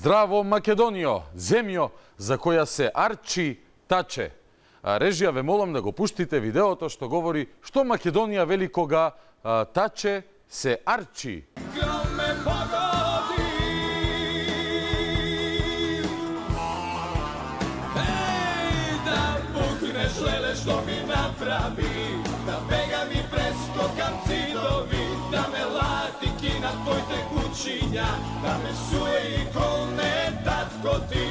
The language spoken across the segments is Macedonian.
Здраво, Македонијо, земјо за која се арчи таче. Режија, ве молам да го пуштите видеото што говори што Македонија вели кога таче се арчи. Гром ме погоди. Еј, да пукнеш леле што ми направи, да бега ми прескокам цидови, да ме латики на твоите кучиња, да ме суе и колне татко ти,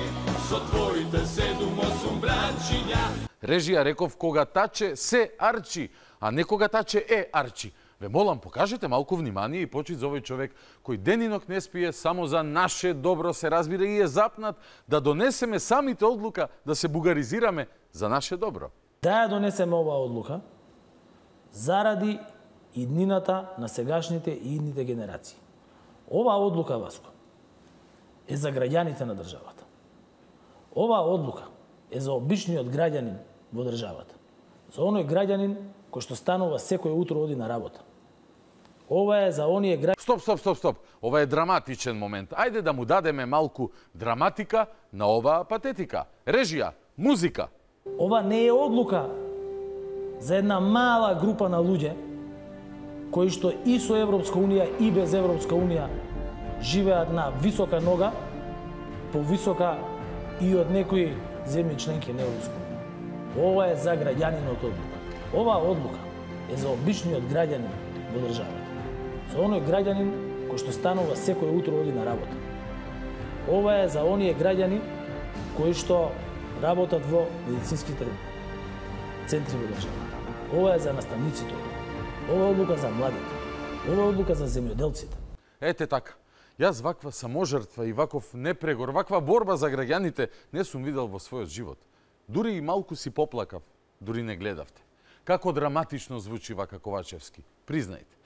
со твоите 7-8 бранчиња. Режија, реков кога таче се арчи, а не кога таче е арчи. Ве молам, покажете малку внимание и почит за овој човек кој ден и ног не спие, само за наше добро се разбира и е запнат да донесеме самите одлука да се бугаризираме за наше добро. Да ја донесеме оваа одлука заради иднината на сегашните и идните генерации. Оваа одлука, Васко, е за граѓаните на државата. Оваа одлука е за обичниот граѓанин во државата. За оној граѓанин кој што станува секој утро оди на работа. Ова е за оние граѓани... Стоп. Ова е драматичен момент. Ајде да му дадеме малку драматика на оваа патетика. Режија, музика. Ова не е одлука за една мала група на луѓе кои што и со Европска Унија и без Европска Унија живеат на висока нога, повисока и од некои земји членки на Европска Унија. Ова е за граѓанинот одлука. Оваа одлука е за обичниот граѓанин во државата. За оној граѓанин кој што станува секој утро оди на работа. Ова е за оние граѓани кои што работат во медицинските центри во државата. Ова е за наставниците. Ова е одлука за младите. Ова е одлука за земјоделците. Ете така. Јас ваква саможртва и ваков непрегор, ваква борба за граѓаните не сум видел во својот живот. Дури и малку си поплакав, дури не гледавте. Како драматично звучи вака Ковачевски. Признајте.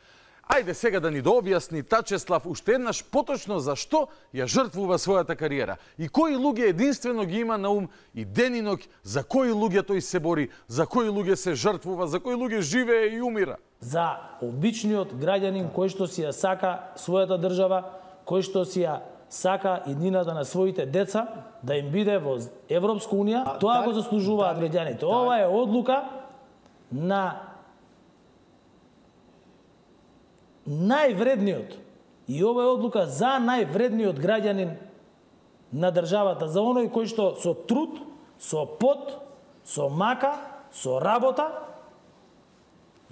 Ајде сега да ни дообјасни Тачеслав уште еднаш поточно зашто ја жртвува својата кариера и кои луѓе единствено ги има на ум и ден и ноќ, за кои луѓе тој се бори, за кои луѓе се жртвува, за кои луѓе живее и умира. За обичниот граѓанин кој што си ја сака својата држава, кој што си ја сака иднината на своите деца да им биде во Европска Унија, тоа го заслужуваат граѓаните. Ова е одлука на највредниот и ова е одлука за највредниот граѓанин на државата, за оној кој што со труд, со пот, со мака, со работа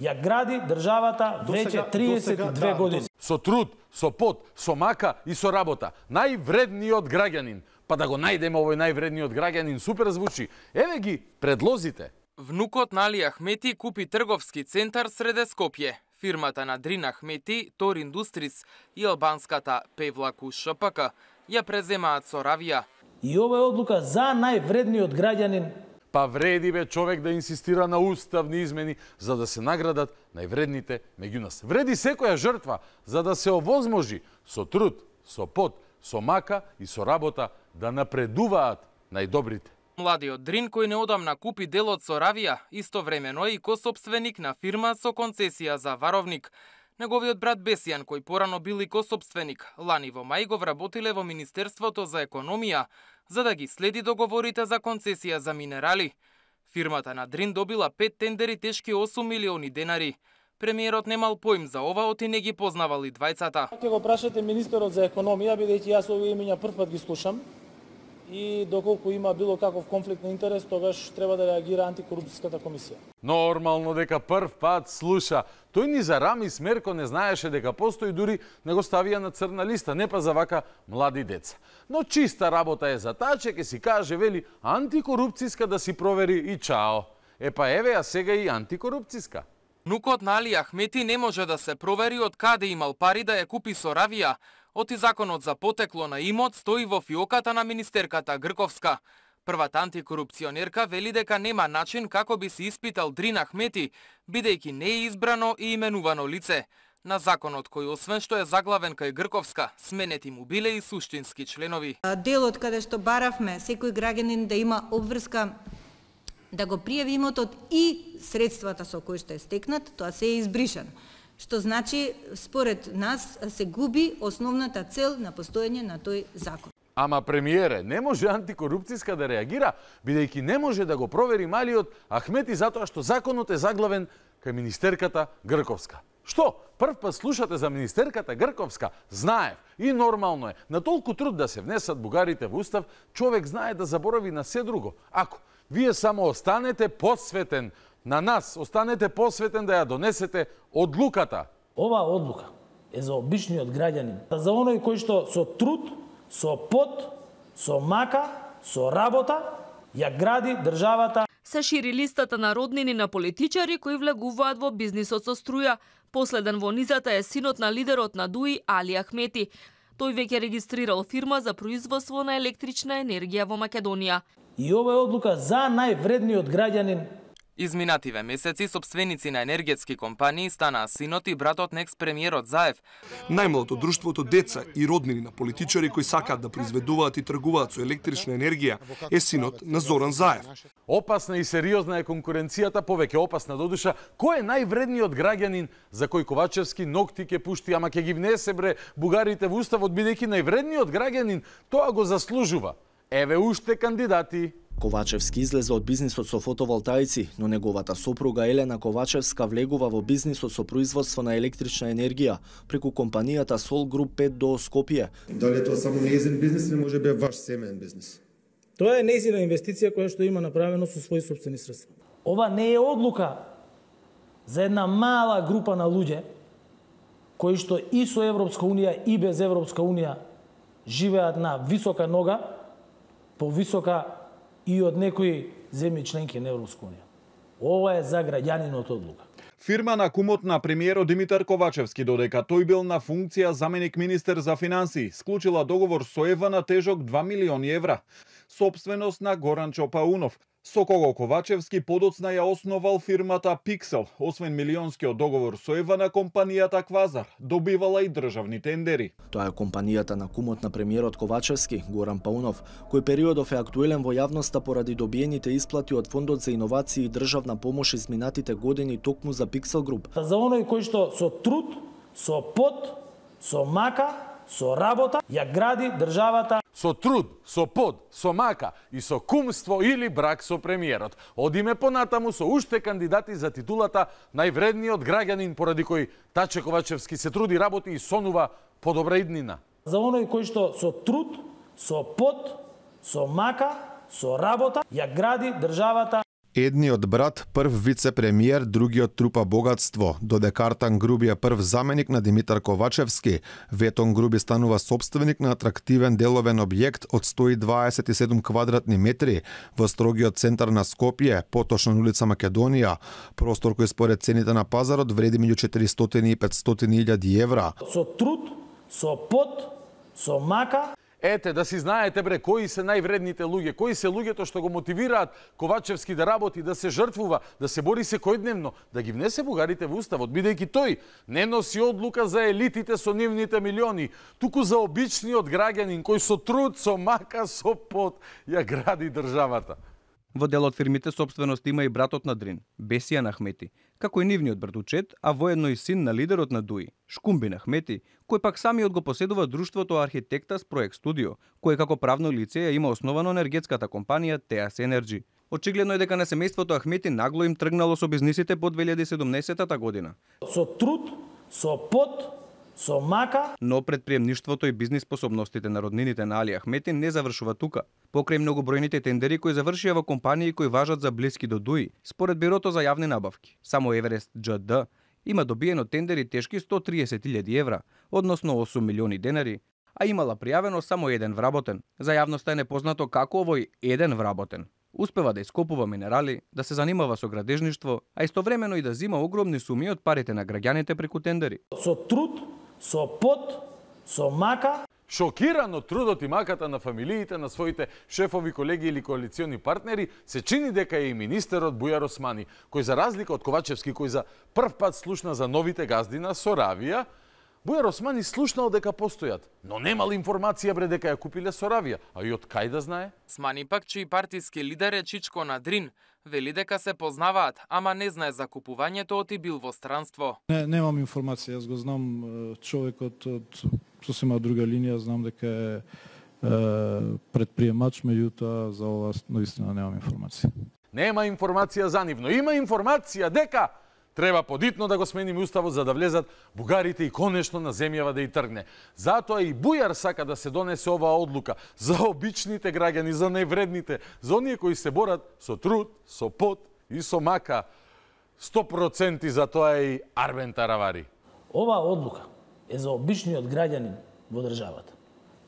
ја гради државата веќе 32 години. Со труд, со пот, со мака и со работа. Највредниот граѓанин. Па да го најдеме овој највредниот граѓанин, супер звучи. Еве ги предлозите. Внукот на Али Ахмети купи трговски центар среде Скопје. Фирмата на Дрин Ахмети, Тор Индустрис и албанската Певлаку ШПК ја преземаат со равија. И ова е одлука за највредниот граѓанин. Па вреди бе човек да инсистира на уставни измени за да се наградат највредните меѓу нас. Вреди секоја жртва за да се овозможи со труд, со пот, со мака и со работа да напредуваат најдобрите. Младиот Дрин, кој неодамна купи делот со равија, истовремено и косопственик на фирма со концесија за варовник. Неговиот брат Бесијан, кој порано бил и косопственик, лани во мај го вработиле во Министерството за економија, за да ги следи договорите за концесија за минерали. Фирмата на Дрин добила 5 тендери тешки 8 милиони денари. Премиерот немал поим за ова, оти не ги познавали двајцата. Ќе го прашате министерот за економија, бидејќи јас овие имиња првпат ги слушам. И доколку има било каков конфликт на интерес, тогаш треба да реагира антикорупцијската комисија. Нормално дека прв пат слуша. Тој ни за рами смерко не знаеше дека постои, дури не го ставија на црна листа, не па за вака млади деца. Но чиста работа е за таче, ке си каже, вели, антикорупцијска да си провери и чао. Епа еве, а сега и антикорупцијска. Внукот на Али Ахмети не може да се провери од каде имал пари да ја купи Соравија, оти законот за потекло на имот стои во фиоката на министерката Грковска. Првата антикорупционерка вели дека нема начин како би се испитал Дрин Ахмети, бидејќи не е избрано и именувано лице. На законот кој освен што е заглавен кај Грковска, сменети му биле и суштински членови. Делот каде што баравме секој граѓанин да има обврска да го пријави имотот и средствата со кои што е стекнат, тоа се е избришано. Што значи, според нас, се губи основната цел на постоење на тој закон. Ама премиере, не може антикорупцијска да реагира, бидејќи не може да го провери малиот Ахмети затоа што законот е заглавен кај министерката Грковска. Што? Прв пат слушате за министерката Грковска? Знаев. И нормално е. На толку труд да се внесат бугарите во устав, човек знае да заборави на се друго. Ако вие само останете посветен на нас, останете посветен да ја донесете одлуката. Оваа одлука е за обичниот граѓанин, за оној кој што со труд, со пот, со мака, со работа ја гради државата. Се шири листата на роднини на политичари кои влегуваат во бизнисот со струја. Последен во низата е синот на лидерот на ДУИ Али Ахмети. Тој веќе регистрирал фирма за производство на електрична енергија во Македонија. И ова е одлука за највредниот граѓанин. Изминативе месеци сопственици на енергетски компании станаа синот и братот на екс-премиерот Заев. Најмалото друштвото деца и роднини на политичари кои сакаат да произведуваат и тргуваат со електрична енергија е синот на Зоран Заев. Опасна и сериозна е конкуренцијата, повеќе опасна додуша. Кој е највредниот граѓанин за кој Ковачевски ногти ќе пушти, ама ќе ги внесе бре бугарите во уставот, бидејќи највредниот граѓанин тоа го заслужува. Еве уште кандидати. Ковачевски излезе од бизнисот со фотоволтаици, но неговата сопруга Елена Ковачевска влегува во бизнисот со производство на електрична енергија преку компанијата Сол Груп 5 до Скопје. Дали е тоа само нејзин бизнис или може би ваш семеен бизнис? Тоа е нејзина инвестиција која што има направено со своји сопствени средства. Ова не е одлука за една мала група на луѓе кои што и со Европска унија и без Европска унија живеат на висока нога, повисока и од некои земји членки на Европска унија. Ова е за граѓанинот одлука. Фирма на кумот на премиерот Димитар Ковачевски, додека тој бил на функција заменик министер за финансии, склучила договор со ЕВА на тежок 2 милиони евра. Собственост на Горан Чопаунов, со кого Ковачевски подоцна ја основал фирмата Пиксел. Освен милионскиот договор со ЕВА на компанијата Квазар, добивала и државни тендери. Тоа е компанијата на кумот на премиерот Ковачевски, Горан Паунов, кој периодов е актуелен во јавноста поради добиените исплати од Фондот за иновации и државна помош изминатите години токму за Пиксел Груп. За оној кој што со труд, со пот, со мака, со работа ја гради државата. Со труд, со пот, со мака и со кумство или брак со премиерот. Одиме понатаму со уште кандидати за титулата највредниот граѓанин поради кој Таче Ковачевски се труди, работи и сонува подобра иднина. За оној кој што со труд, со пот, со мака, со работа ја гради државата. Едниот брат прв вице-премиер, другиот трупа богатство. Додека Артан Груби е прв заменик на Димитар Ковачевски, Ветон Груби станува собственик на атрактивен деловен објект од 127 квадратни метри во строгиот центар на Скопје, поточно на улица Македонија, простор кој според цените на пазарот вреди меѓу 400 и 500 илјади евра. Со труд, со пот, со мака. Ете, да си знаете бре, кои се највредните луѓе, кои се луѓето што го мотивираат Ковачевски да работи, да се жртвува, да се бори секојдневно, да ги внесе бугарите во уставот, бидејќи тој не носи одлука за елитите со нивните милиони, туку за обичниот граѓанин кој со труд, со мака, со пот ја гради државата. Во дел од фирмите собственост има и братот на Дрин, Бесијан Ахмети, како и нивниот братучет, а воедно и син на лидерот на ДУИ, Шкумбин Ахмети, кој пак самиот го поседува друштвото Архитектас Проект Студио, кој како правно лице ја има основано енергетската компанија Теас Енерджи. Очигледно е дека на семејството Ахмети нагло им тргнало со бизнисите по 2017 година. Со труд, со пот, со мака. Но предприемништвото и бизнис способностите на роднините на Али Ахмети не завршува тука. Покрај многобројните тендери кои завршија во компании кои важат за блиски до ДУИ, според Бирото за јавни набавки, само Еверест џд има добиено тендери тешки 130.000 евра, односно 8 милиони денари, а имала пријавено само еден вработен. За јавноста е непознато како овој еден вработен Успева да ископува минерали, да се занимава со градежништво, а истовремено и да зима огромни суми од парите на граѓаните преку тендери. Со труд, со пот, со мака. Шокиран од трудот и маката на фамилиите на своите шефови, колеги или коалициони партнери, се чини дека е и министерот Бујар Османи, кој за разлика од Ковачевски, кој за прв пат слушна за новите газди на Соравија, Бујар Османи слушнал дека постојат, но немал информација бре дека ја купиле Соравија, а и од кај да знае? Османи пак, чиј партиски лидер е Чичко Надрин, вели дека се познаваат, ама не знае за купувањето од и бил во странство. Немам информација, јас го знам човекот од сосема друга линија, знам дека е предприемач, меѓутоа за ова наистина немам информација. Нема информација за нив, но има информација дека треба подитно да го смениме уставот за да влезат бугарите и конечно на земјава да и тргне. Затоа и Бујар сака да се донесе оваа одлука за обичните граѓани, за невредните, за оние кои се борат со труд, со пот и со мака. 100% за тоа е и Арбен Таравари. Оваа одлука е за обичниот граѓанин во државата.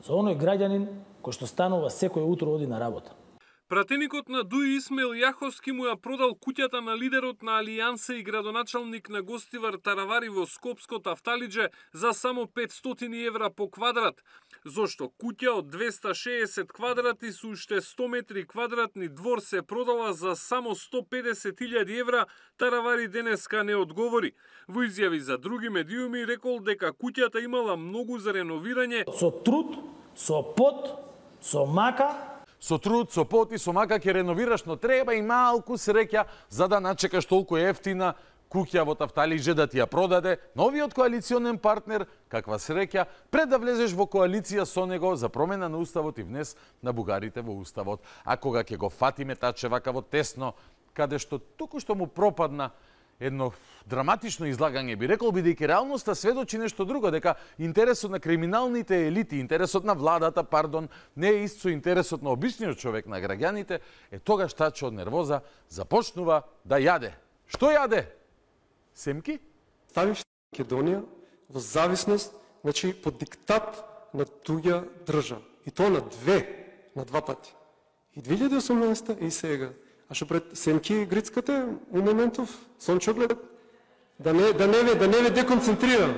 За оној граѓанин кој што станува секој утро оди на работа. Пратеникот на ДУИ Исмаил Јаховски му ја продал куќата на лидерот на Алијанса и градоначалник на Гостивар Таравари во Скопското Афталидже за само 500 евра по квадрат. Зошто куќа од 260 квадрати со уште 100 метри квадратни двор се продала за само 150.000 евра, Таравари денеска не одговори. Во изјави за други медиуми рекол дека куќата имала многу за реновирање. Со труд, со пот, со мака. Со труд, со пот и со мака ќе реновираш, но треба и малку среќа за да начекаш толку ефтина куќа во Тафталидже да ти ја продаде новиот коалиционен партнер, каква среќа, пред да влезеш во коалиција со него за промена на уставот и внес на бугарите во уставот. А кога ќе го фатиме таче вака во тесно, каде што току што му пропадна едно драматично излагање, би рекол, бидејќи реалноста сведочи нешто друго, дека интересот на криминалните елити, интересот на владата, не е ист со интересот на обичниот човек, на граѓаните, тогаш таче од нервоза започнува да јаде. Што јаде? Семки? Ставиш Македонија во зависност, значи под диктат на туѓа држава. И тоа на два пати. И 2018 и сега. А што пред Семки Грицката у моментов сончоглед да не ве деконцентрирам.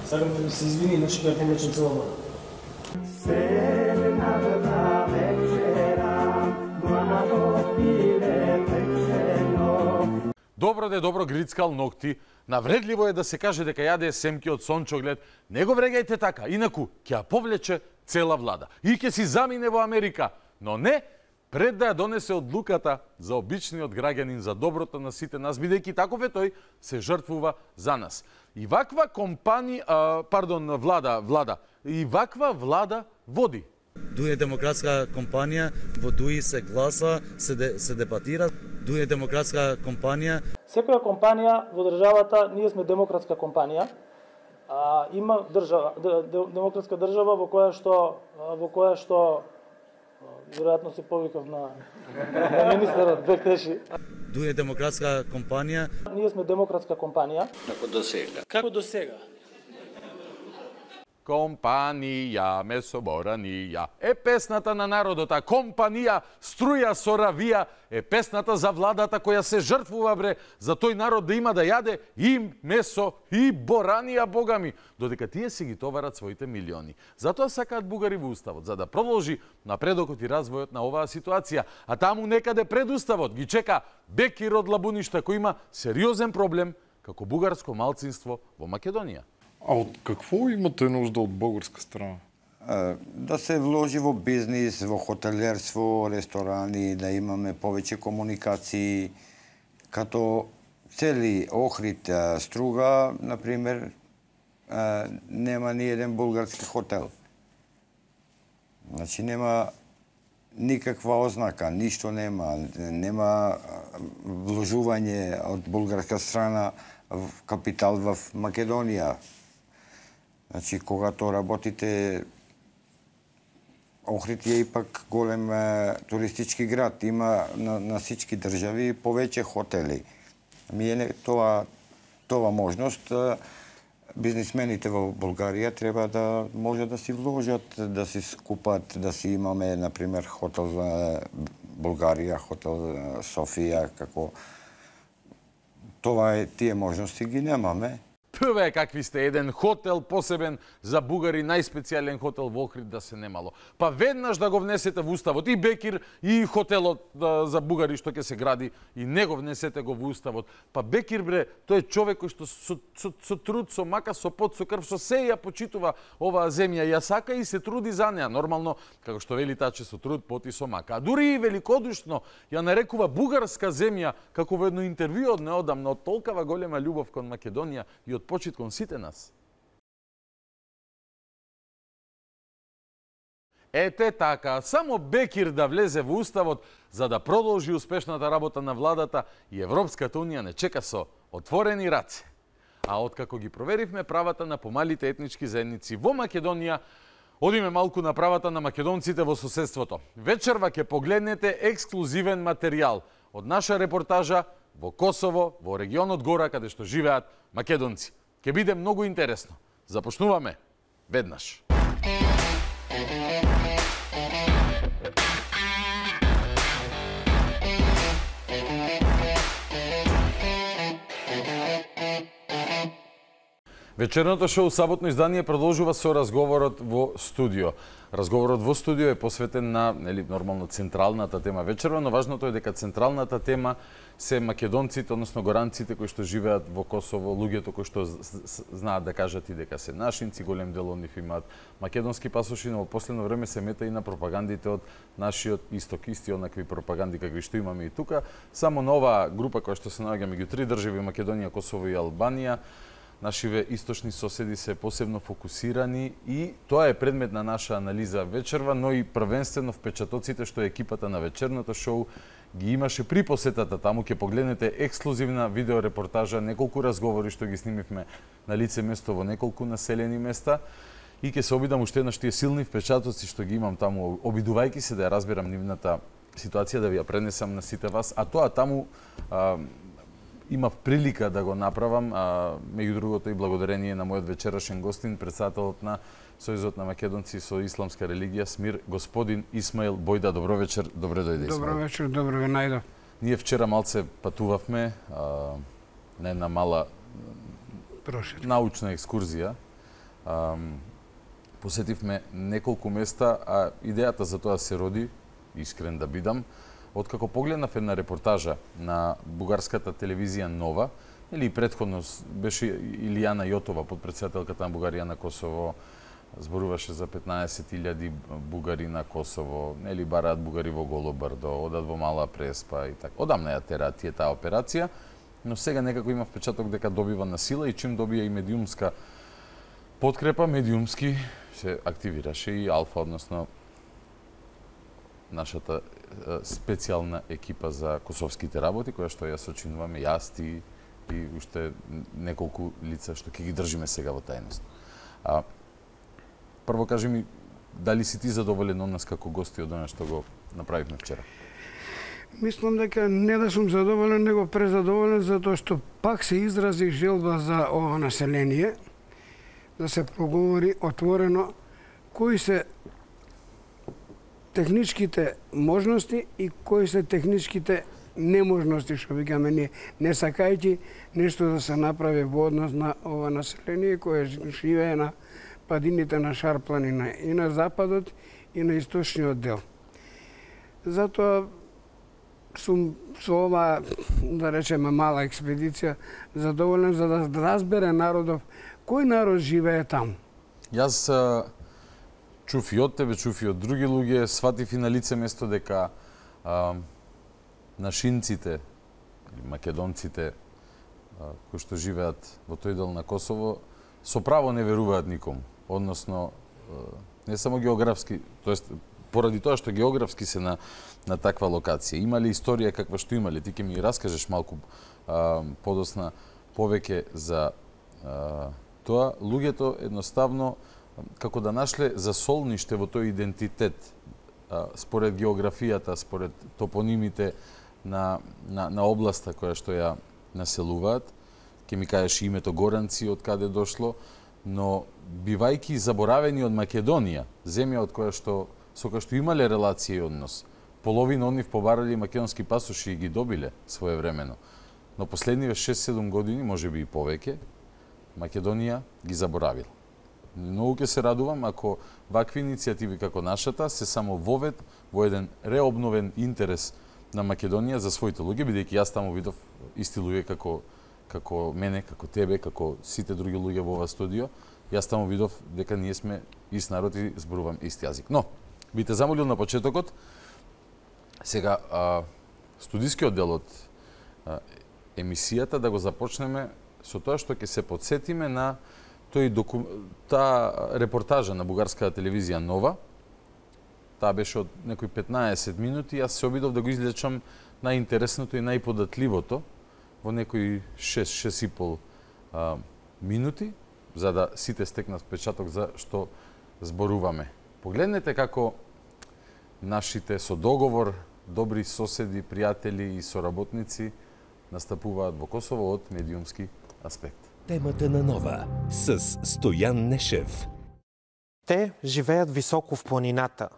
Сакам да ми се извини, значи ќе повлечем цела вода. Добро грицкал ногти. Навредливо е да се каже дека јаде семки од сончоглед. Не го врегајте така, инаку ќе ја повлече цела влада. И ќе си замине во Америка. Но не, пред да ја донесе одлуката за обичниот граѓанин, за доброто на сите нас, бидејќи таков е тој, се жртвува за нас. И ваква влада, и ваква влада води. ДУИ е демократска компанија, во ДУИ се гласа, се дебатира. ДУИ е демократска компанија. Секоја компанија во државата, ние сме демократска компанија, има демократска држава во која што веројатно се повикав на министерот Бектеши. ДУИ е демократска компанија. Ние сме демократска компанија. Како до сега? Компанија, месоборанија. Е песната на народот, а компанија, струја, Соравија, е песната за владата која се жртвува бре за тој народ да има да јаде и месо и боранија, богами, додека тие си ги товарат своите милиони. Затоа сакаат бугари во уставот, за да продолжи напредокот и развојот на оваа ситуација. А таму некаде пред уставот ги чека Бекир од Лабуништа, кој има сериозен проблем како бугарско малцинство во Македонија. А од какво имате нужда од бугарска страна? Да се вложи во бизнис, во хотелерство, ресторани, да имаме повеќе комуникации, като цели Охрид, Струга, например, нема ни еден булгарски хотел. Значи нема никаква ознака, ништо нема вложување од булгарска страна в капитал в Македонија. Значи, когато работите, Охрид е ипак голем туристички град, има на всички држави повеќе хотели. Ми е тоа можност бизнисмените во Булгарија треба да може да си вложат, да си скупат, да си имаме, например, хотел Булгарија, хотел Софија, како това тие можности ги немаме. Пве какви сте, еден хотел посебен за бугари, најспецијален хотел во Охрид да се немало. Па веднаш да го внесете во уставот и Бекир и хотелот за бугари што ќе се гради и не го внесете го во уставот. Па Бекир бре, тој е човек кој што со труд, со мака, со пот, со крв, со се ја почитува оваа земја, ја сака и се труди за неа. Нормално, како што вели таче, со труд, пот и со мака. А дури и великодушно ја нарекува бугарска земја како во едно интервју од неодамна, од толкава голема љубов кон Македонија и од почит кон сите нас. Ете така, само Бекир да влезе во уставот за да продолжи успешната работа на владата и Европската унија не чека со отворени раце. А откако ги проверивме правата на помалите етнички заедници во Македонија, одиме малку на правата на македонците во соседството. Вечерва ќе погледнете ексклузивен материјал од наша репортажа во Косово, во регионот Гора, каде што живеат македонци. Ќе биде многу интересно. Започнуваме веднаш. Вечерното шоу Саботно издание продолжува со разговорот во студио. Разговорот во студио е посветен на нормално централната тема вечерва, но важното е дека централната тема се македонците, односно горанците кои што живеат во Косово, луѓето кои што знаат да кажат и дека се нашинци, голем дел од нив имаат македонски пасоши, но во последно време се мета и на пропагандите од нашиот исток, исти онакви пропаганди какви што имаме и тука. Само на оваа група која што се наоѓа меѓу три држави, Македонија, Косово и Албанија, нашиве источни соседи се посебно фокусирани и тоа е предмет на наша анализа вечерва, но и првенствено впечатоците што екипата на вечерното шоу ги имаше при посетата таму. Ќе погледнете ексклузивна видеорепортажа, неколку разговори што ги снимивме на лице место во неколку населени места и ќе се обидам уште еднаш тие силни впечатоци што ги имам таму, обидувајќи се да ја разберам нивната ситуација, да ви ја пренесам на сите вас, а тоа таму имав прилика да го направам, меѓу другото и благодарение на мојот вечерашен гостин, председателот на Сојузот на македонци со исламска религија СМИР, господин Исмаил Бојда. Добро вечер, добре дојде. Добро вечер, добро ве најдов. Ние вчера малце патувавме на една мала научна екскурзија. Посетивме неколку места, а идејата за тоа се роди, искрен да бидам, откако погледнав една репортажа на бугарската телевизија Нова, или претходно беше Илијана Јотова, подпредседателката на Бугарија на Косово, зборуваше за 15.000 бугари на Косово, нели бараат бугари во Голобрдо, одат во Мала Преспа и така. Одамна ја тера таа операција, но сега некако има впечаток дека добива на сила и чим добија и медиумска подкрепа, медиумски се активираше и Алфа, односно нашата специјална екипа за косовските работи, која што ја сочинуваме јас, ти и уште неколку лица што ќе ги држиме сега во тајност. Прво кажи ми, дали си ти задоволен од нас како гости од она што го направивме вчера? Мислам дека не да сум задоволен, него презадоволен, затоа што пак се изрази желба за ова население, да се проговори отворено кои се техничките можности и кои се техничките неможности, што викаме ние, не сакајќи нешто да се направи во однос на ова население кое живее на падините на Шар планина и на западот и на источниот дел. Затоа сум со ова, да речеме, мала експедиција задоволен за да разбере народов кој народ живее таму. Јас чув и од тебе, чув и од други луѓе, сватив и на лице место дека нашинците, македонците кои што живеат во тој дел на Косово, со право не веруваат никому. Односно, не само географски, тоест поради тоа што географски се на таква локација. Имали историја каква што имали, ти ќе ми раскажеш малку подосна повеќе за тоа. Луѓето едноставно како да нашле засолниште во тој идентитет, според географијата, според топонимите на областа која што ја населуваат, ќе ми кажеш името Горанци од каде дошло, но бивајќи заборавени од Македонија, земја од која што со која што имале релација и однос. Половина од нив побарали македонски пасоши и ги добиле своевремено. Но последниве 6-7 години, можеби и повеќе, Македонија ги заборавила. Многу ќе се радувам ако вакви иницијативи како нашата се само вовед во еден реобновен интерес на Македонија за своите луѓе, бидејќи јас таму видов исти луѓе како мене, како тебе, како сите други луѓе во ова студио. Јас таму видов дека ние сме ист народ и зборувам ист јазик. Но, би те замолил на почетокот, сега студискиот дел од емисијата да го започнеме со тоа што ќе се подсетиме на таа репортажа на бугарската телевизија Нова. Таа беше од некои 15 минути, јас се обидов да го излечам најинтересното и најподатливото во некои 6-6,5 минути, за да сите стекнат впечаток за што зборуваме. Погледнете како нашите со договор добри соседи, пријатели и соработници настапуваат во Косово од медиумски аспект. Темата на Нова с Стојан Нешев. Те живеят високо в планината,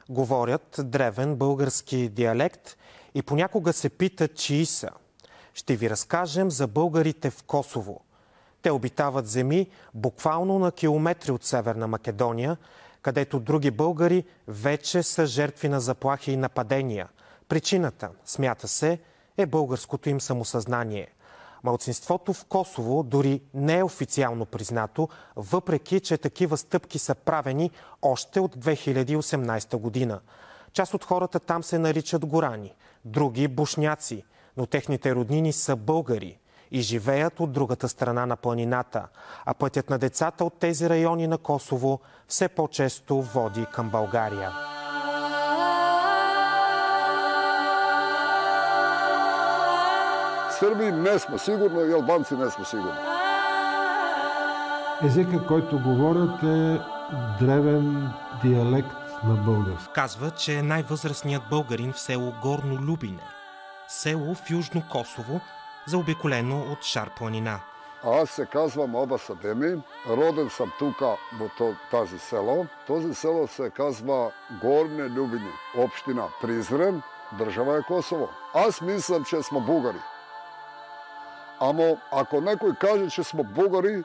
говорят древен български диалект и понякога се питат чии са. Ще ви разкажем за българите в Косово. Те обитават земи буквално на километри от Северна Македония, където други българи вече са жертви на заплахи и нападения. Причината, смята се, е българското им самосъзнание. Малцинството в Косово дори не е официално признато, въпреки че такива стъпки са правени още от 2018 година. Част от хората там се наричат горани, други бушняци, но техните роднини са българи и живеят от другата страна на планината, а пътят на децата от тези райони на Косово все по-често води към България. Сърби не сме сигурни и албанци не сме сигурни. Езикът, който говорят, е древен диалект на български. Казва, че е най-възрастният българин в село Горно Любине, село в Южно Косово, заобиколено от Шар планина. Аз се казвам Аба Садеми, роден съм тука во тази село. Този село се казва Горне Любини, община Призрен, држава е Косово. Аз мислам, че сме бугари. Ама ако некој каже, че сме бугари,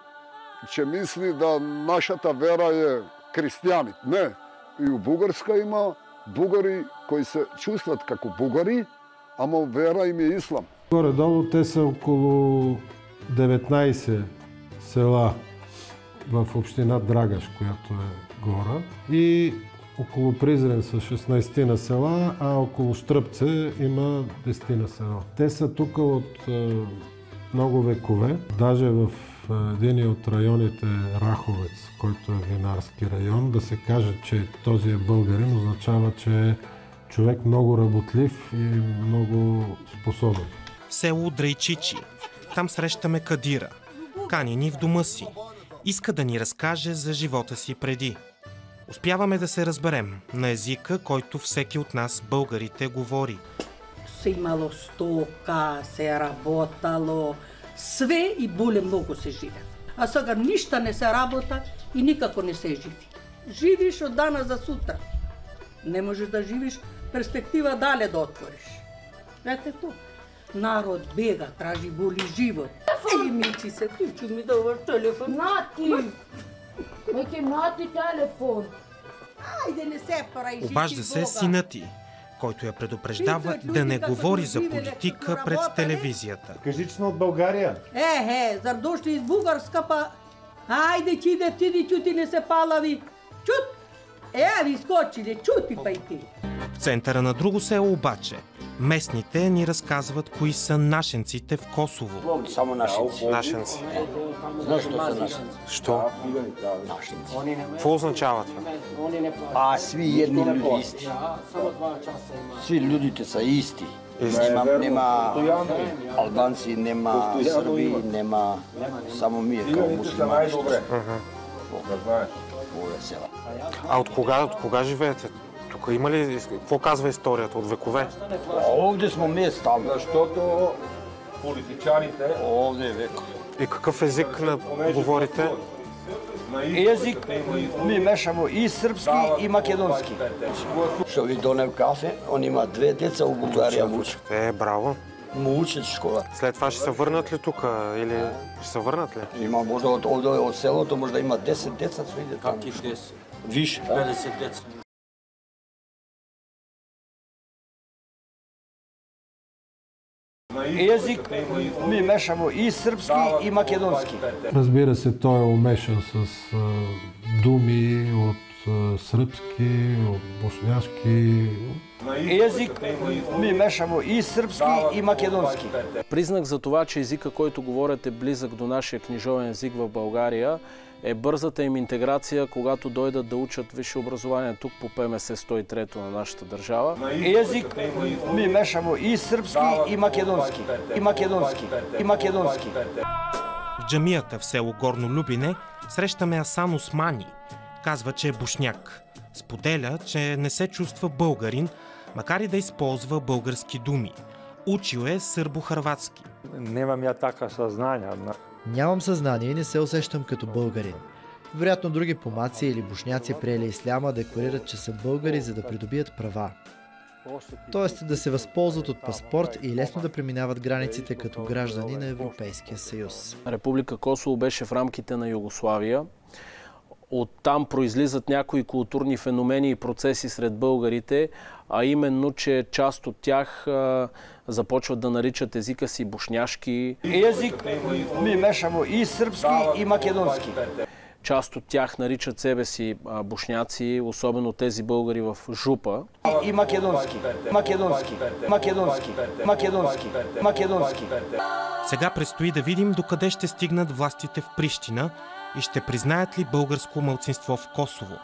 че мисли да нашата вера е християни. Не. И у Бугарска има бугари кои се чувстват како бугари, ама вера им е ислам. Горе-долу те са около 19 села в община Драгаш, която е гора, и около Призрен са 16 на села, а около Штръпце има 10 на села. Те са тук от много векове. Даже в един от районите Раховец, който е винарски район, да се каже, че този е българин, означава, че е човек много работлив и много способен. В село Драйчичи. Там срещаме Кадира. Кани ни в дома си. Иска да ни разкаже за живота си преди. Успяваме да се разберем на езика, който всеки от нас, българите, говори. Се имало стока, се работало, све и боле много се живе. А сега ништа не се работа и никако не се живи. Живиш од дана за сутра. Не можеш да живиш перспектива дале да отвориш. Ете то. Народ бега, тражи боли живот. Ей, мичи се, ти ми даваш телефон. Нати! Меќе нати телефон. Ајде, не се прави. Обажда се синът ти, който я предупреждава да не говори за политика пред телевизията. Кажи, че сме от България. Зар дошли из Бугарска, па... Ајде, ти не се палави. Чут! Ви скочили, чути па и ти. В центъра на друго село обаче, местните ни разказват кои са нашенците в Косово. Само нашенци. Нашенци. Знаеш што са нашенци? Що? Нашенци. Какво означава това? Сви едни люди исти. Сви людите са исти. Нема албанци, нема сърби, нема само ние като муслимани. А от кога живеете? Тук има ли, какво казва историята от векове? Овде сме мест там. Защото политичарите. Овде веко. И какъв език говорите? Език ми мешамо и српски и македонски. Што ви донев кафе, он има 2 деца у Бугарија му учат. Браво. Му учат школа. След това ще се върнат ли тук или ще се върнат ли? Има можда од селото можда има 10 деца што иде таму. Каки 10? Више, 50 деца. Език ми мешамо и српски и македонски. Разбира се, тој е умешан с думи од српски, од бошњашки. Език ми мешамо и српски и македонски. Признак за това, че езика, който говорят, е близък до нашия книжовен език в България, е бързата им интеграция, когато дойдат да учат висше образование тук по ПМС 103 на нашата държава. Език ми мешамо и српски и македонски. И македонски. И македонски. В джамията в село Горно Любине срещаме Асан Османи. Казва, че е бошняк. Споделя, че не се чувства българин, макар и да използва български думи. Учил е сърбо-хърватски. Немам ја така съзнание. Нямам съзнание и не се усещам като българин. Вероятно други помаци или бошняци приели исляма декларират, че са българи, за да придобият права. Тоест да се възползват от паспорт и лесно да преминават границите като граждани на Европейския съюз. Република Косово беше в рамките на Югославия. Оттам произлизат някои културни феномени и процеси сред българите, а именно, че част от тях започват да наричат езика си бошняшки. Език ми мешамо и српски и македонски. Част от тях наричат себе си бошняци, особено тези българи в Жупа. И македонски, македонски, македонски, македонски, македонски. Сега предстои да видим докъде ще стигнат властите в Прищина и ще признаят ли българско малцинство в Косово.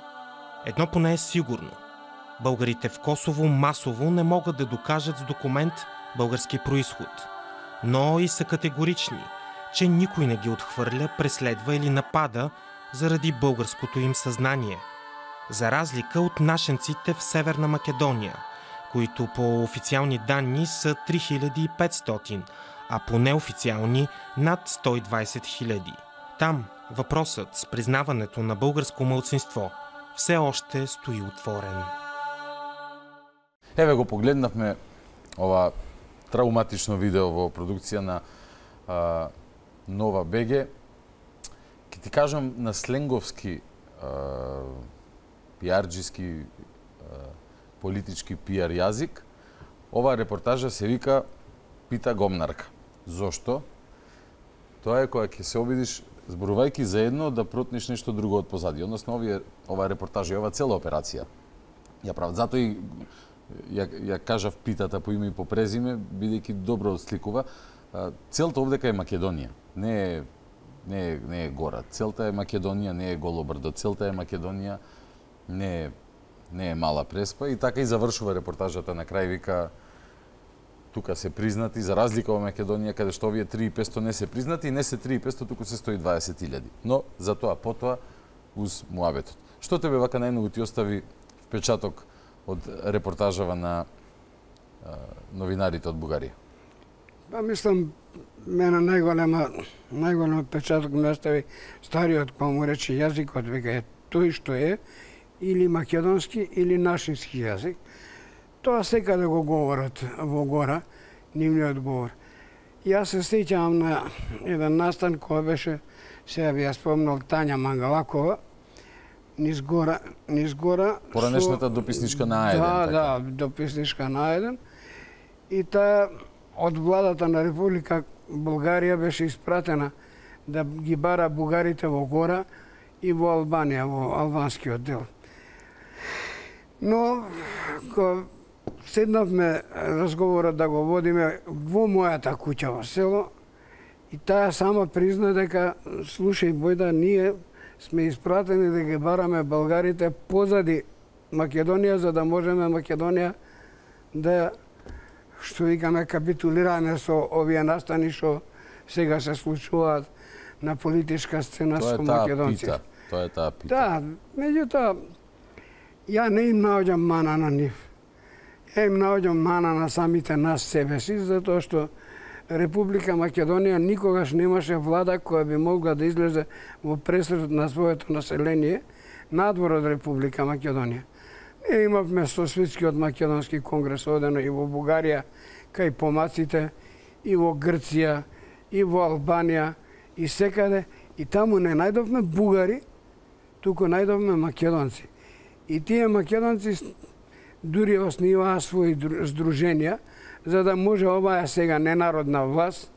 Едно поне е сигурно. Българите в Косово масово не могат да докажат с документ български происход. Но и са категорични, че никой не ги отхвърля, преследва или напада заради българското им съзнание. За разлика от нашенците в Северна Македония, които по официални данни са 3500, а по неофициални над 120 000. Там въпросът с признаването на българско малцинство все още стои отворен. Еве го погледнавме ова травматично видео во продукција на Нова БГ. Ке ти кажам на сленговски, пиарджиски, политички пиар јазик, оваа репортажа се вика Пита Гомнарка. Зошто? Тоа е кога ќе се обидиш, зборувајќи заедно, да протнеш нешто друго од позади. Односно, оваа репортажа и оваа цела операција ја прават. Затоа и ја кажав Питата по име и по презиме, бидејќи добро сликува. Целта овдека е Македонија. Не е гора. Целта е Македонија, не е Голо брдо. Целта е Македонија, не е Мала Преспа. И така и завршува репортажата. На крај вика, тука се признати, за разлика во Македонија, каде што овие 3500 не се признати, и не се 3500, туку се 120.000. Но, затоа, потоа, уз муабетот. Што тебе вака најмногу ти остави впечаток од репортажава на новинарите од Бугарија? Па мислам, мене најголем впечаток ме остави стариот, кој му рече јазикот, века е тој што е, или македонски, или нашински јазик. Тоа секаде го говорат во гора, нивниот говор. Јас се сеќавам на еден настан кој беше, сега би ја спомнал, Тања Мангалакова, низ гора. Поранешната дописничка на А1. Да, дописничка на А1. И таа од владата на Република Бугарија беше испратена да ги бара бугарите во гора и во Албанија, во албанскиот дел. Но, седнавме разговорот да го водиме во мојата куќа во село и таа сама призна дека, слушај Бојда, ние сме испратени да ги бараме българите позади Македонија, за да можеме Македонија да, што викаме, капитулираме со овие настани што сега се случуваат на политичка сцена со македонците. Тоа е таа пита. Да, меѓутоа, ја не им наоѓам мана на нив. Ја им наоѓам мана на самите нас себе си, затоа што Република Македонија никогаш немаше влада која би могла да излезе во пресред на своето население надвор од Република Македонија. Ние имавме Сосветскиот македонски конгрес одено и во Бугарија, кај помаците, и во Грција, и во Албанија, и секаде. И таму не најдовме бугари, туку најдовме македонци. И тие македонци дури основиваа своји здруженија, за да може оваа сега ненародна власт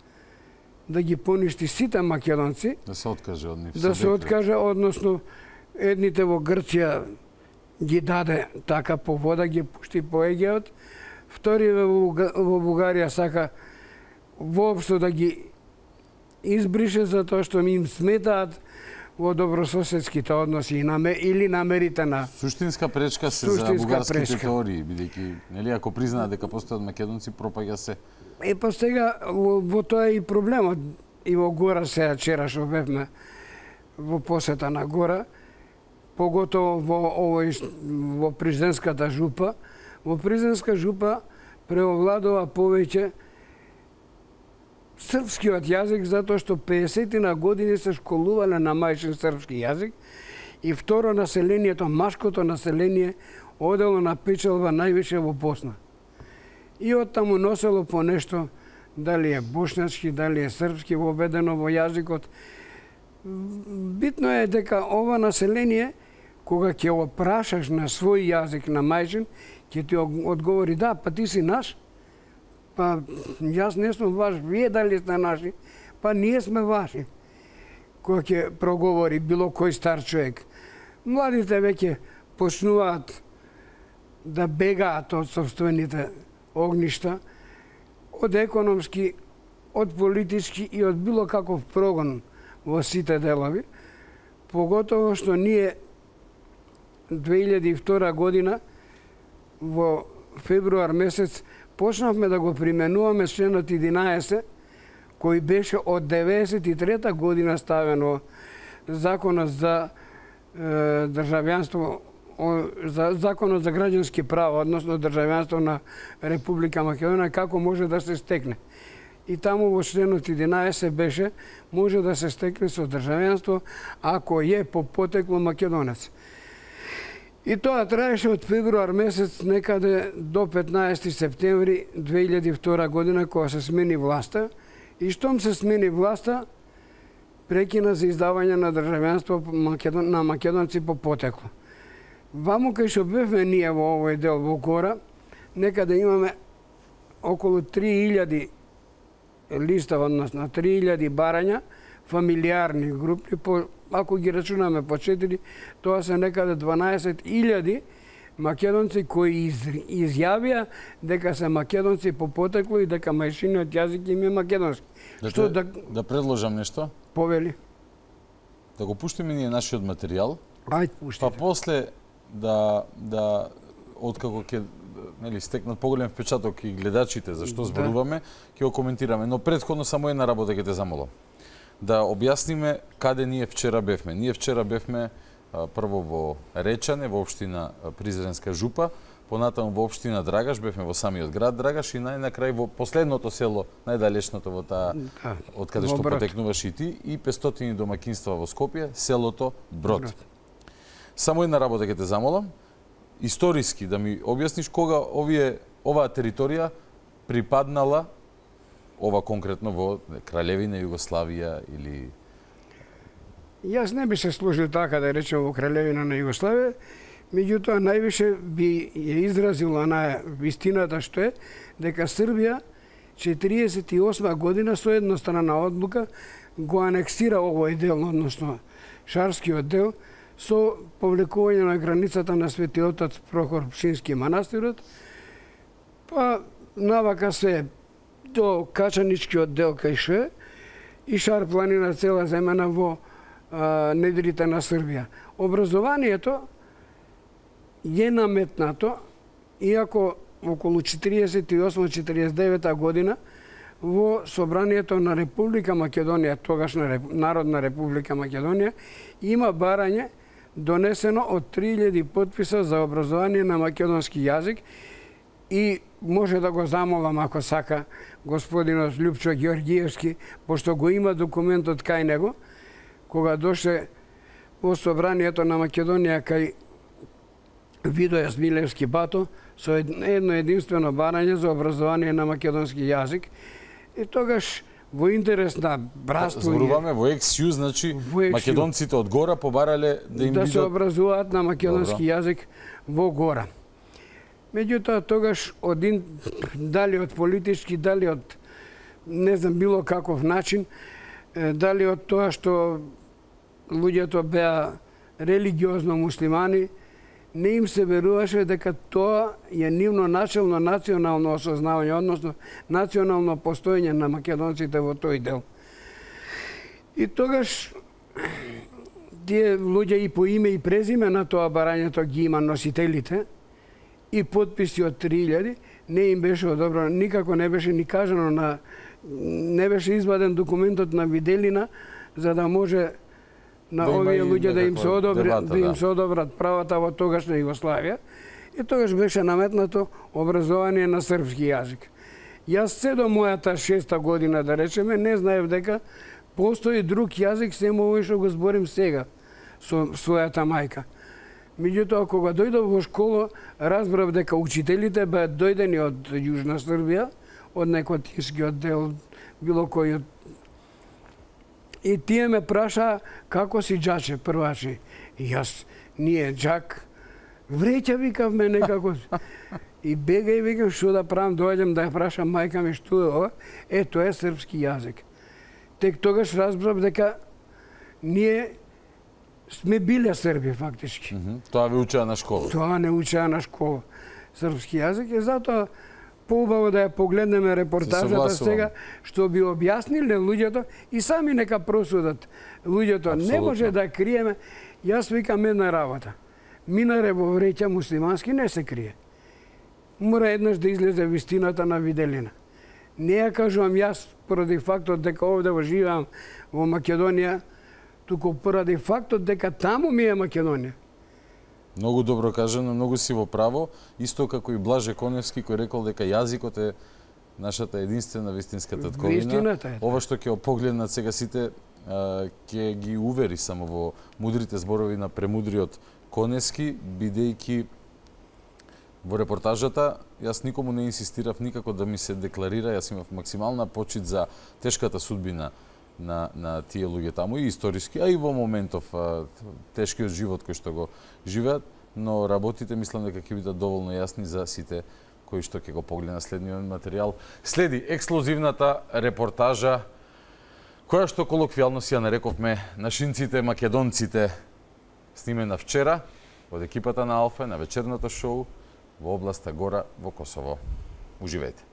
да ги поништи сите македонци. Да се откаже од нив. Да се откаже, односно едните во Грција ги даде така по вода, ги пушти по Егеот. Втори во Бугарија сака воопшто да ги избрише затоа што им сметаат во добрососедските односи или намерите на суштинска пречка се за бугарските теории, бидејќи нели ако признаат дека постојат македонци, пропаѓа се. Па сега во тоа е и проблемот. И во Гора сега вчера што бевме во посета на Гора, поготово во президентската жупа. Во президентска жупа преовладува повеќе српскиот јазик, затоа што 50 години се школувале на мајчин српски јазик, и второ населението, машкото население, одело на печалба највише во Босна. И оттаму носело по нешто, дали е бошњачки, дали е српски, воведено во јазикот. Битно е дека ова население, кога ќе го прашаш на свој јазик, на мајчин, ќе ти одговори, да, па ти си наш, па јас не сум ваш, вие дали сте наши, па ние сме ваши. Кога ќе проговори било кој стар човек. Младите веќе почнуваат да бегаат од собствените огништа, од економски, од политички и од било каков прогон во сите делови, поготово што ние 2002 година во февруар месец почнавме да го применуваме членот 11, кој беше од 93 година ставено законот за државјанство, законот за граѓански права, односно државјанство на Република Македонија, како може да се стекне. И таму во членот 11 беше може да се стекне со државјанство ако е по потекло македонец. И тоа траеше од февруар месец некаде до 15 септември 2002 година, кога се смени власта. И штом се смени власта, прекина за издавање на државјанство на македонци по потекло. Ваму кај што бевме ние во овој дел во Гора, некаде имаме околу 3000 листа, односно 3000 барања, фамилиарни групи, ако ги рачунаме по 4, тоа се некаде 12.000 македонци кои изјавија дека се македонци по потекло и дека мајчиниот јазик им е македонски. Да предложам нешто? Повели. Да го пуштиме ние нашиот материјал. Ајде, пуштите. Па после откако ќе стекнат поголем впечаток и гледачите за што зборуваме, ќе го коментираме. Но претходно само една работа ќе те замолам. Да објасниме каде ние вчера бевме. Ние вчера бевме прво во Речане, во општина Призренска жупа, понатаму во општина Драгаш, бевме во самиот град Драгаш и најнакрај во последното село, најдалечното во таа, од каде што потекнуваш и ти, и 500 домакинства во Скопје, селото Брод. Само една работа ќе те замолам, историски да ми објасниш кога оваа територија припаднала, ова конкретно во Краљевина Југославија или... Јас не би се сложил така да речем во Краљевина на Југославија, меѓутоа највише би ја изразила на вистината што е дека Србија 1948 година со еднострана одлука го анексира овој дел, односно Шарскиот дел, со повлекување на границата на Свети Отец Прохор Пшински манастирот, па навака се до Качаничкиот дел кај Ше и Шар планина цела земена во недрите на Србија. Образованието е наметнато, иако околу 48-49 година во Собранието на Република Македонија, тогашна Народна Република Македонија, има барање донесено од 3000 потписа за образование на македонски јазик и може да го замолам ако сака господинот Лјупчо Ѓорѓиевски, пошто го има документот кај него, кога доше во собранието на Македонија кај Видоја Смилевски Бато со едно единствено барање за образование на македонски јазик. И тогаш во интерес на братство... Зборуваме во ексју, значи македонците од Гора побарале да им да се образуваат на македонски јазик во Гора. Меѓутоа, тогаш дали од политички, дали од не знам било каков начин, дали од тоа што луѓето беа религиозно муслимани, не им се веруваше дека тоа е нивно начелно национално осознавање, односно национално постоење на македонците во тој дел. И тогаш тие луѓе и по име и презиме на тоа барањето ги има носителите и подписи од 3000, не им беше одобрено, никако не беше ни кажано не беше изваден документот на Виделина за да може на овие луѓе да им се одобрат правата во тогашна Југославија. И тогаш беше наметнато образование на српски јазик. Јас се до мојата 6-та година, да речеме, не знаев дека постои друг јазик сем овој што го зборим сега со својата мајка. Меѓутоа, кога дојдов во школа, разбрав дека учителите беа дојдени од Јужна Србија, од Некотинскиот дел, било кој од... И тие ме праша како си џаче, првачи. И јас, ние џак, вреќа викав ме некако. И бегај викам што да правам, дојдем да ја прашам мајка ми што е ова. Тоа е српски јазик. Тек тогаш разбрав дека ние сме биле срби фактички. Тоа ви учеа на школа? Тоа не учеа на школа. Српски јазик и затоа поубаво да ја погледнеме репортажата сега, што би објасниле луѓето и сами нека просудат луѓето. Не може да криеме. Јас викам една работа. Минаре во вреќа муслимански не се крие. Мора еднаш да излезе вистината на Виделина. Не ја кажувам јас поради фактот дека овде живеам во Македонија, туку поради фактот дека таму ми е Македонија. Многу добро кажано, многу си во право, исто како и Блаже Коневски кој рекол дека јазикот е нашата единствена вистинска татковина. Ова што ќе погледнат сега сите ќе ги увери само во мудрите зборови на премудриот Коневски, бидејќи во репортажата јас никому не инсистирав никако да ми се декларира, јас имав максимална почит за тешката судбина на тие луѓе таму и историски, а и во моментов тешкиот живот кој што го живеат, но работите мислам дека ќе бидат доволно јасни за сите кои што ќе го погледнат следниот материјал. Следи ексклузивната репортажа која што колоквијално си ја нарековме нашинците, македонците, снимена вчера од екипата на Алфа на вечерното шоу во областа Гора во Косово. Уживете.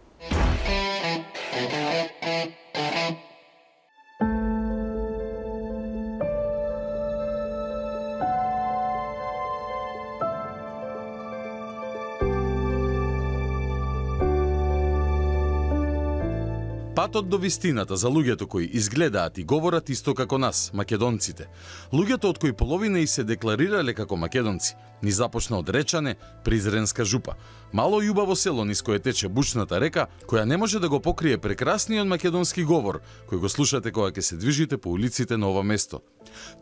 Патот до вистината за луѓето кои изгледаат и говорат исто како нас, македонците. Луѓето од кои половина и се декларирале како македонци, ни започна од Речане, Призренска жупа. Мало и убаво село низ кое тече бучната река, која не може да го покрие прекрасниот македонски говор, кој го слушате кога ќе се движите по улиците на ова место.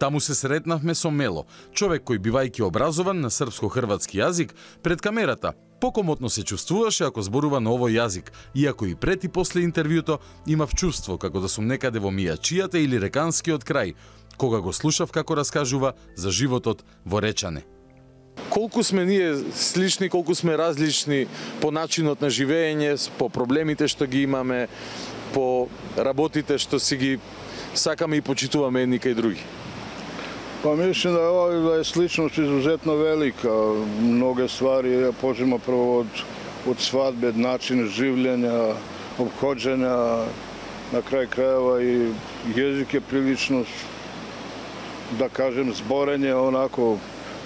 Таму се сретнавме со Мело, човек кој бивајќи образован на српско-хрватски јазик, пред камерата покомотно се чувствуваше ако зборува на овој јазик, иако и пред и после интервјуто имав чувство како да сум некаде во Мијачијата или Реканскиот крај, кога го слушав како раскажува за животот во Речане. Колку сме ние слични, колку сме различни по начинот на живење, по проблемите што ги имаме, по работите што си ги сакаме и почитуваме едни кај други. Па мислам да е сличност изузетно велика. Многе ствари ја почнемо прво од свадбе, начин живлење, обходење, на крај крајeva и језик е прилично, да кажем, зборење онако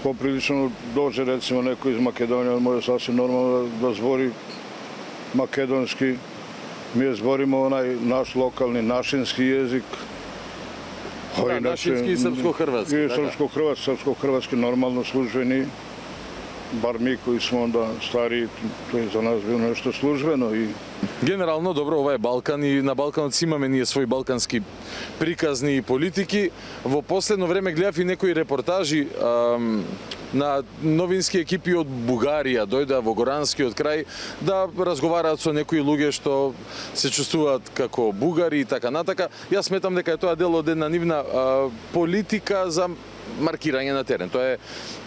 поприлично доже рецимо некој из Македонија може сасвим нормално да збори македонски. Ние збориме онај наш локални нашински језик. Да, нашински и српско-хрватски. И српско-хрватски нормално службени. бар ми кои смо онда стари, тоа е за нас било нешто службено и Генерално, добро, ова е Балкан и на Балканот си имаме ние своји балкански приказни и политики. Во последно време гледав и некои репортажи на новински екипи од Бугарија, дојдоа во Горанскиот крај да разговараат со некои луѓе што се чувствуваат како бугари и така натака. Јас сметам дека е тоа дел од една нивна политика за маркирање на терен. Тоа е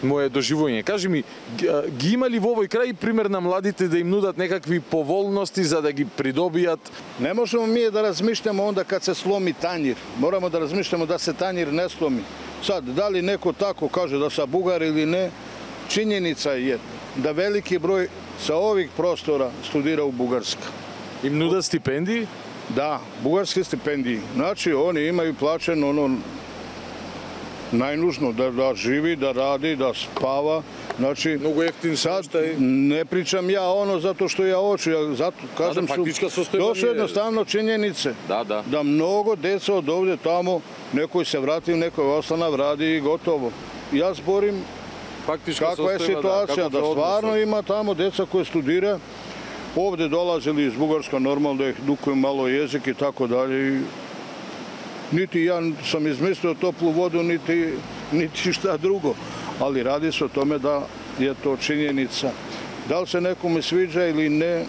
мое доживување. Кажи ми, ги има ли во овој крај пример на младите да им нудат некакви поволности за да ги придобијат? Не можеме ние да размишламе онда кад се сломи тањир. Морамо да размишламе да се тањир не сломи. Сад, дали неко тако каже да са бугари или не, чињеница е да велики број sa ovih prostora studira u Bugarska. Im nuda stipendiji? Da, bugarske stipendije. Znači, oni imaju plaćeno ono najnužno, da živi, da radi, da spava. Znači, mnogo jeftin sad ne pričam ja ono zato što ja hoću, ja zato kažem to su jednostavno činjenice. Da mnogo deca od ovdje tamo, nekoj se vrati, nekoj ostane, radi i gotovo. Ja zborim kakva je situacija, da stvarno ima tamo deca koje studira, ovdje dolazili iz Bugarska, normalno da ih dukuju malo jezik i tako dalje. Niti ja sam izmislio toplu vodu, niti šta drugo. Ali radi se o tome da je to činjenica. Da li se nekome sviđa ili ne,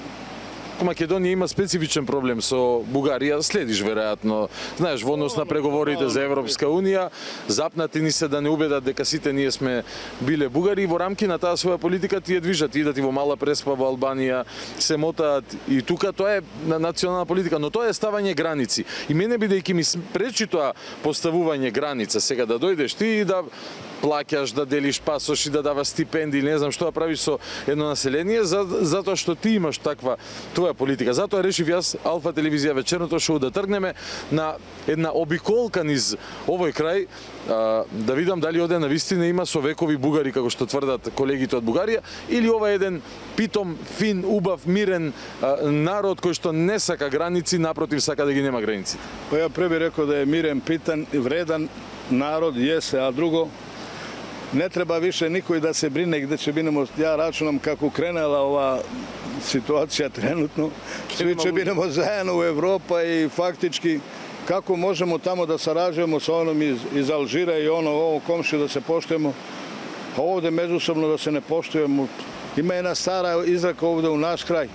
Македонија има специфичен проблем со Бугарија, следиш веројатно. Знаеш, во однос на преговорите за Европска унија, запнати ни се да не убедат дека сите ние сме биле бугари и во рамки на таа своја политика тие движат, идат и во Мала Преспа во Албанија, се мотаат и тука тоа е национална политика, но тоа е ставање граници. И мене бидејќи ми пречи тоа поставување граница, сега да дојдеш ти и да плаќаш, да делиш пасоши, да даваш стипендии, не знам што да правиш со едно население, затоа што ти имаш таква твоја политика. Затоа решив јас, Алфа телевизија вечерното шоу, да тргнеме на една обиколка низ овој крај, да видам дали оде навистина има со векови бугари, како што тврдат колегите од Бугарија, или ова е еден питом, фин, убав, мирен народ кој што не сака граници, напротив сака да ги нема граници. Па ја преби рекол да е мирен, питан и вредан народ, јесе, а друго, не треба више никој да се брине где ќе бидеме. Ја рачунам како кренела ова ситуација тренутно. Сви ќе бидеме заедно во Европа и фактички како можемо тамо да сараđujemo со оном из Алжира и ово комши да се поштуемо, а овде меѓусобно да се не поштуемо. Има една стара изрека овде у наш крај.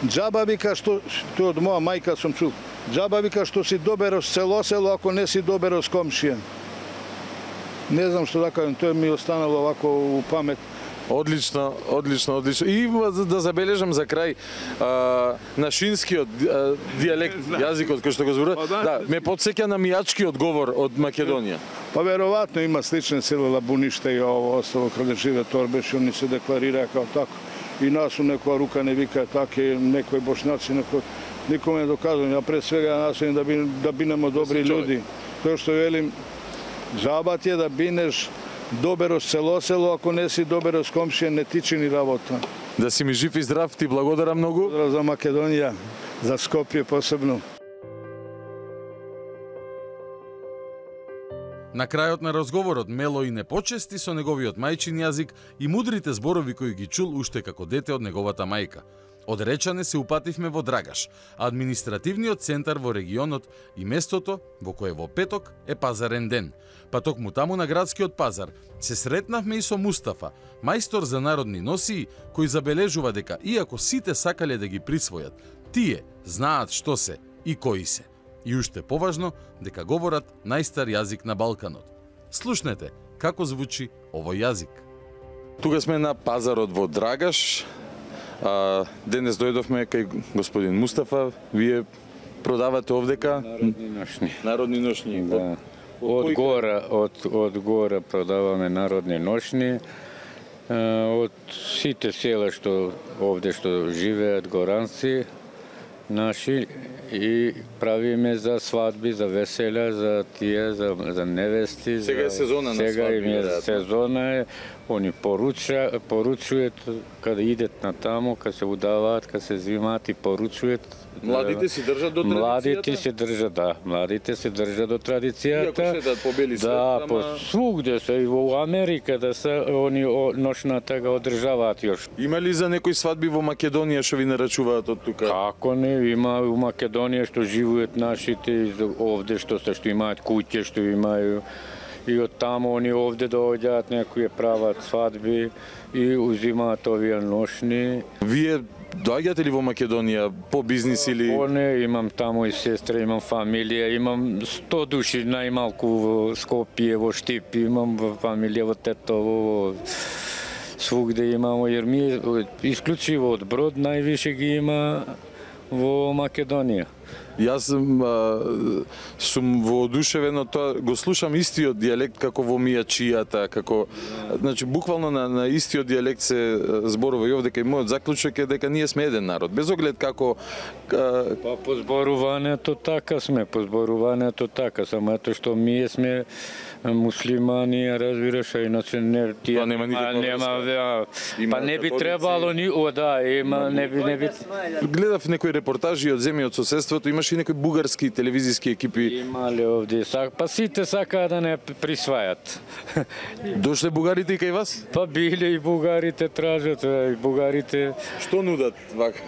Џаба вика што од моја мајка сум чул. Џаба вика што си доберос село ако не си доберос комшија. Не знам што да кажам, тоа ми останало овако у памет. Одлично. И да забележам за крај нашинскиот дијалект, јазикот кој што го зборува, да, ме потсеќа на мијачкиот говор од Македонија. Па веројатно има слични сели Лабуниште и ово остало каде живе Торбеш, они се декларираат како тако. И нас у некоја рука не вика таке, некои бошњаци, никоме не доказувам. Ја пред свега насојам да бинемо добри луѓи. Тоа што велим, Жабат е да бинеш доберос село, ако не си доберос комшија, не ти чини работа. Да си ми жив и здрав, ти благодарам многу. За Македонија, за Скопје посебно. На крајот на разговорот Мело и не почести со неговиот мајчин јазик и мудрите зборови кои ги чул уште како дете од неговата мајка. Од Речане се упативме во Драгаш, административниот центар во регионот и местото во кое во петок е пазарен ден. Па токму таму на градскиот пазар се сретнавме и со Мустафа, мајстор за народни носии, кој забележува дека иако сите сакале да ги присвојат, тие знаат што се и кои се. И уште поважно, дека говорат најстар јазик на Балканот. Слушнете како звучи овој јазик. Тука сме на пазарот во Драгаш. Денес дојдовме кај господин Мустафа. Вие продавате овдека народни ношни. Да. Од гора продаваме народни ношни. Од сите села што овде што живеат горанци наши и правиме за свадби, за веселја, за тие, за невести. Сега е сезона на свадби. Сега е сезона, они поручујат кога идат на тамо, кога се удаваат, кога се взимаат и поручујат. Младите си држат до традицијата? Младите се држат, да. Младите се држат до традицијата. Иако седат по бели свет, да, по свугде се, и во Америка да се, они ношната го одржаваат још. Има ли за некои свадби во Македонија што ви нарачуваат од тука? Како не, има у Македонија што живеат нашите, овде што имаат куќе, што имају. И од таму они овде доаѓаат, некои прават свадби и узимаат овие ношни. Вие доаѓате ли во Македонија по бизнис или? Не, имам таму и сестра, имам фамилија, имам 100 души најмалку во Скопје, во Штип, имам фамилија во Тетово, свугде имамо, jer ми исклучиво од Брод највише ги има во Македонија. Јас сум воодушевен од тоа, го слушам истиот дијалект како во Мијачијата, како значи буквално на истиот дијалект се зборува и овде кај мојот заклучок е дека ние сме еден народ, без оглед како Па по зборувањето така, само ето што ние сме муслимани, разбираш, иначе не тие нема никаква па не би требало ни не би. Гледав некои репортажи од земји од соседството, имаше и некои бугарски телевизиски екипи. Имале овде, па сите сакаат да не присвајат. Дошле бугарите и кај вас? Па биле и бугарите тражат, и бугарите. Што нудат вака?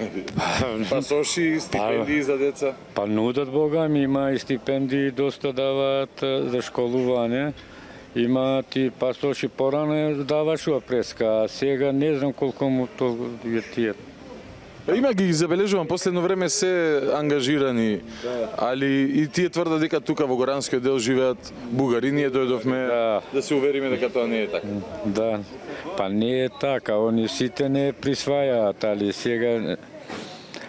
Пасоши, стипендии за деца? Па нудат, Бога ми, има и стипендии, доста даваат за школување. Имаат и пасоши, порано давашува преска, а сега не знам колку му тоа тие. Има ги забележувам, последно време се ангажирани, али и тие тврдат дека тука во горанскиот дел живеат бугари, ние дојдовме да се увериме дека тоа не е така. Да, па не е така, они сите не присвајаат, али сега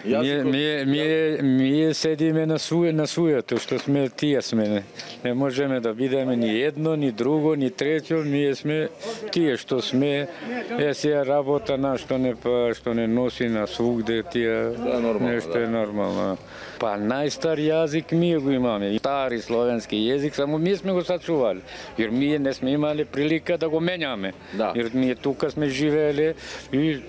Ние седиме на својето, што сме, тие сме. Не можеме да бидеме ни едно, ни друго, ни трето, ние сме тие што сме. Сега работа на што не носи на свугде, тие нешто е нормално. Па најстар јазик ние го имаме, стари словенски јазик, само ние сме го сачували. Јер ние не сме имали прилика да го менјаме. Јер ние тука сме живееле и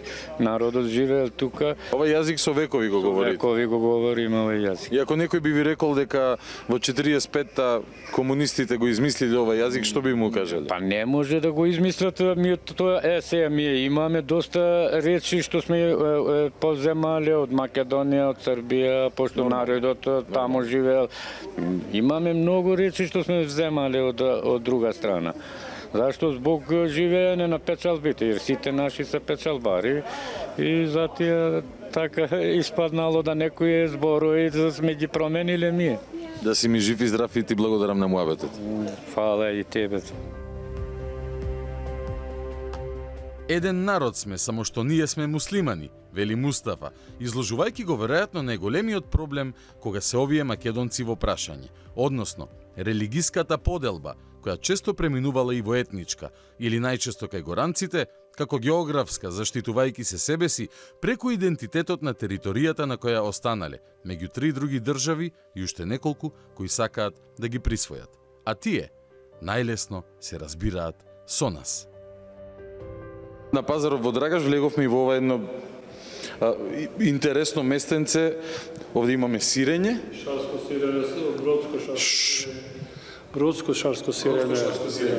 народот живеел тука. Ова јазик со векови го говорите? Векови го говориме овој јазик. И ако некој би ви рекол дека во 45-та комунистите го измислиле овој јазик, што би му кажале? Па не може да го измислат, сега ние имаме доста речи што сме поземале од Македонија, од Србија, пошто народот тамо живеел. Имаме многу речи што сме вземале од друга страна. Зашто? Због живеење на печалбите, jer сите наши се печалбари и затоа така испаднало да некои зборови да сме ги промениле ние. Да си ми жив и здрав и ти благодарам на муабетот. Фала и тебе. Еден народ сме, само што ние сме муслимани, вели Мустафа, изложувајќи го веројатно најголемиот проблем кога се овие македонци во прашање, односно религиската поделба, која често преминувала и во етничка, или најчесто кај горанците, како географска, заштитувајќи се себе си преку идентитетот на територијата на која останале, меѓу 3 други држави и уште неколку кои сакаат да ги присвојат. А тие најлесно се разбираат со нас. На пазарот во Драгаш влеговме и во ова едно интересно местенце. Овде имаме сирење. Шарско сирење, бродско шарско. Бродско шарско сирење.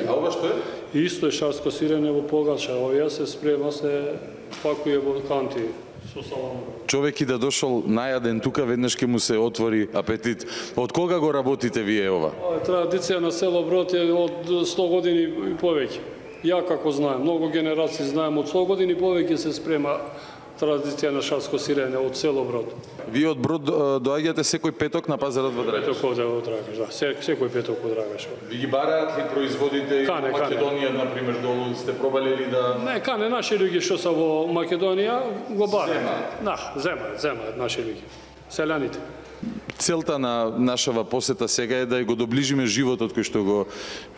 А ова што е? Исто е шарско сирење во погача. Овие се спрема, се пакуе во канти со салам. Човек и да дошол најаден тука, веднаш ќе му се отвори апетит. Од кога го работите вие ова? Традиција на село Брод е од 100 години и повеќе. Ја како знаем, многу генерации знаем, од 100 години повеќе се спрема традиција на шарско сирење од село Брод. Вие од Брод доаѓате секој петок на пазарот во Драгаш? Петок овде во Драгаш, да, секој петок во Драгаш. Ви ги бараат ли производите во Македонија, например, долу, сте пробале ли да... Не, кане, наши луѓе што се во Македонија го бараат. Да, земаат наши луѓе, селяните. Целта на нашава посета сега е да го доближиме животот кој што го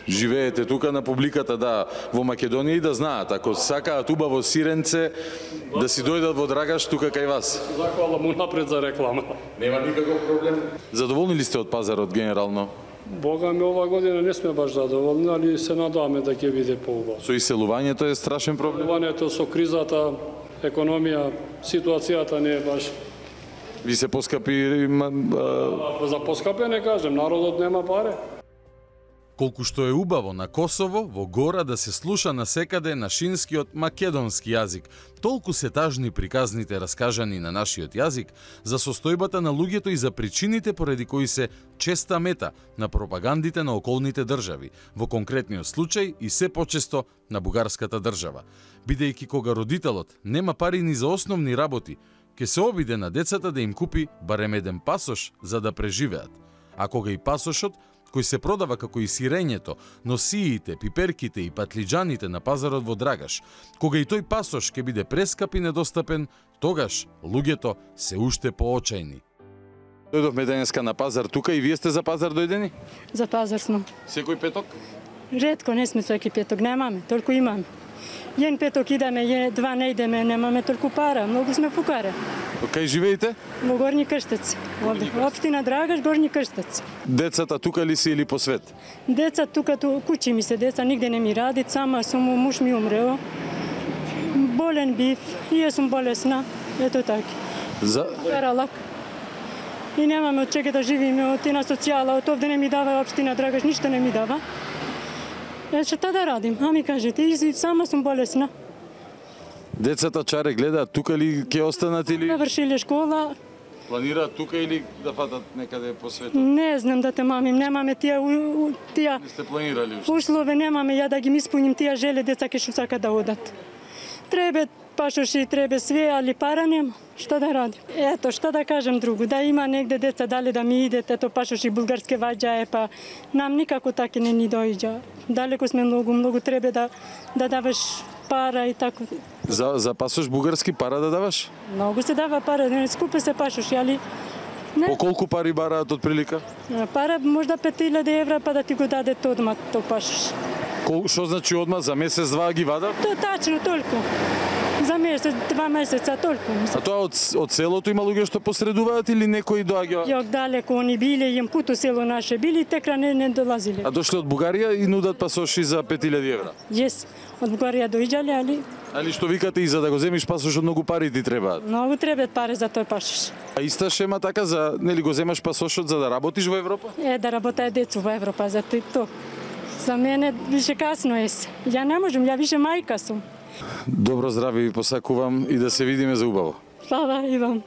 живеете тука на публиката, да, во Македонија и да знаат, ако сакаат убаво сиренце, да си дојдат во Драгаш тука кај вас. Захвала му напред за реклама. Нема никаков проблем. Задоволни ли сте од пазарот генерално? Бога ми, ова година не сме баш задоволни, али се надаваме да ќе биде поубаво. Со иселувањето е страшен проблем. Иселувањето со кризата, економија, ситуацијата не е баш. Ви се поскапи... За поскапе не кажем, народот нема паре. Колку што е убаво на Косово, во гора да се слуша насекаде нашинскиот македонски јазик, толку се тажни приказните раскажани на нашиот јазик за состојбата на луѓето и за причините поради кои се честа мета на пропагандите на околните држави, во конкретниот случај и се почесто на бугарската држава. Бидејќи кога родителот нема пари ни за основни работи, ќе се обиде на децата да им купи барем еден пасош за да преживеат. А кога и пасошот, кој се продава како и сирењето, носиите, пиперките и патлиџаните на пазарот во Драгаш, кога и тој пасош ќе биде прескап и недостапен, тогаш луѓето се уште поочајни. Дојдовме денеска на пазар тука и вие сте за пазар дојдени? За пазар смо. Секој петок? Ретко, не сме секој петок, немаме, толку имаме. Јен петок идеме, два не идеме, немаме толку пара, многу сме фукаре. Кај живеете? Во Горни Крштец. Општина Драгаш, Горни Крштец. Децата тука ли си или по свет? Деца тука, куќи ми се деца, нигде не ми радит, сама сум, муж ми умрео. Болен бив, и јас сум болесна, ето така. Каралак. И немаме од чега да живиме, од тина социјала, од овде не ми дава општина Драгаш, ништо не ми дава. Шта да радим? А ми кажете, и сама сум болесна. Децата чаре гледаат тука ли ќе останат или... Завршиле школа. Планираат тука или да патат некаде по светот? Не знам да те мамим, немаме тие... Не сте планирали уште? Услове немаме, ја да ги исполним тие желе, деца ке што сака да одат. Требе пашоши, требе све, али пара нема. Шта да радим? Ето, шта да кажем друго, да има негде деца дали да ми идет, ето пашоши булгарске ваѓа па нам никако таки не ни дојѓа. Далеко сме многу требе да даваш пара и тако. За пасош бугарски пара да даваш? Многу се дава пара, не скупе се пашоши, али... Не. По колку пари бараат од прилика? Пара можда 5000 евра па да ти го даде одма тој пашош. Што значи одма, за месец, два ги вадат? То тачно, толку. За месец, 2 месеца, толку. А тоа од селото има луѓе што посредуваат или некои доаѓаат? Јок далеко, они биле, им путо село наше били, текра не долазиле. А дошле од Бугарија и нудат пасоши за 5000 евра? Јес, од Бугарија дојѓале, али... Али што викате и за да го земиш пасошот многу пари ти требаат? Многу требаат пари за тој пасош. А иста шема така за, нели го земаш пасошот за да работиш во Европа? Да работаат децу во Европа, за тоа. За мене више касно е. Ја не можам, ја више мајка сум. Добро здраве ви посакувам и да се видиме за убаво. Слава и вам.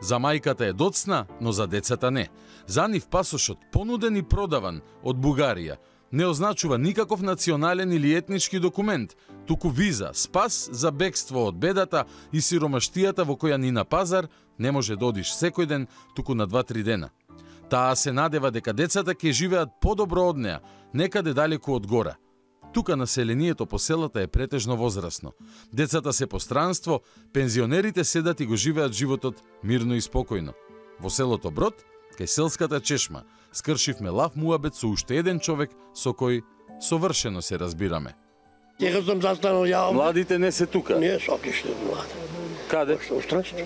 За мајката е доцна, но за децата не. За нив пасошот, понуден и продаван од Бугарија, не означува никаков национален или етнички документ, туку виза, спас за бегство од бедата и сиромаштијата во која ни на пазар не може да одиш секој ден, туку на 2-3 дена. Таа се надева дека децата ќе живеат подобро од неа, некаде далеку од гора. Тука населението по селата е претежно возрасно. Децата се по странство, пензионерите седат и го живеат животот мирно и спокојно. Во селото Брод, кај селската чешма, скршивме лав муабет со уште еден човек со кој совршено се разбираме. Сега сум застанал ја. Младите не се тука? Не, сокиште млади. Каде? Во странство.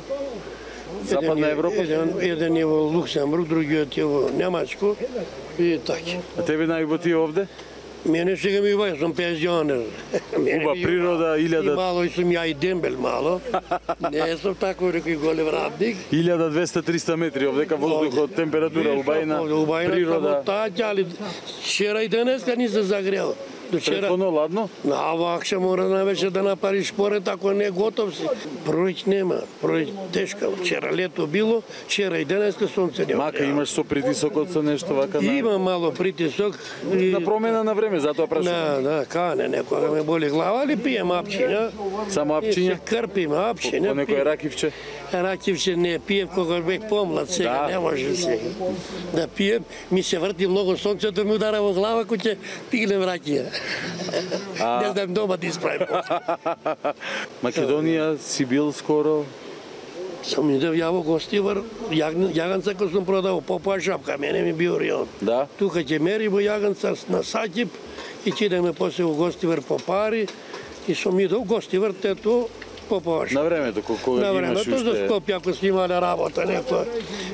Западна Европа? Еден е во Луксембург, другиот е во Немачко и така. А тебе најубаво ти овде? Мене сега ми убаво, сум пензионер. Уба природа, 1000... И мало и сум ја и дембел мало. Не сум тако некој голем радник. 1200-300 метри овдека воздухот, температура убајна, природа. Убајна, али вчера и денеска ни се загрел. Претходно ладно? Вакша мора највеќе да направиш поред, ако не готов си. Пројќ нема, пројќ тешка. Вчера лето било, вчера и денеска сонце нема. Мака имаш со притисокот со нешто вака на... Има мало притисок. На промена на време, затоа прашувам. Да, кане, некога ме боли глава, али пием апчиња. Само апчиња? Крпим апчиња. По некој ракивче? Ракивче не пиев кога бек помлад, сега не може сега. Да пием, ми се врти многу сонцето, ми удара во глава, кој ќе пиглем ракија. Не знам дома да исправим. Македонија си бил скоро? Сам идев ја во Гостивар, јаганца кој сум продавал, попоа шапка, мене ми био рион. Да? Тука ќе мери во јаганца на Сакип и ќе идеме после во Гостивар по пари и сум идел Гостивар, тето Поповаш. На времето, кога на ги времето, имаш уште... за Скопје, ако сме имали работа, некоја,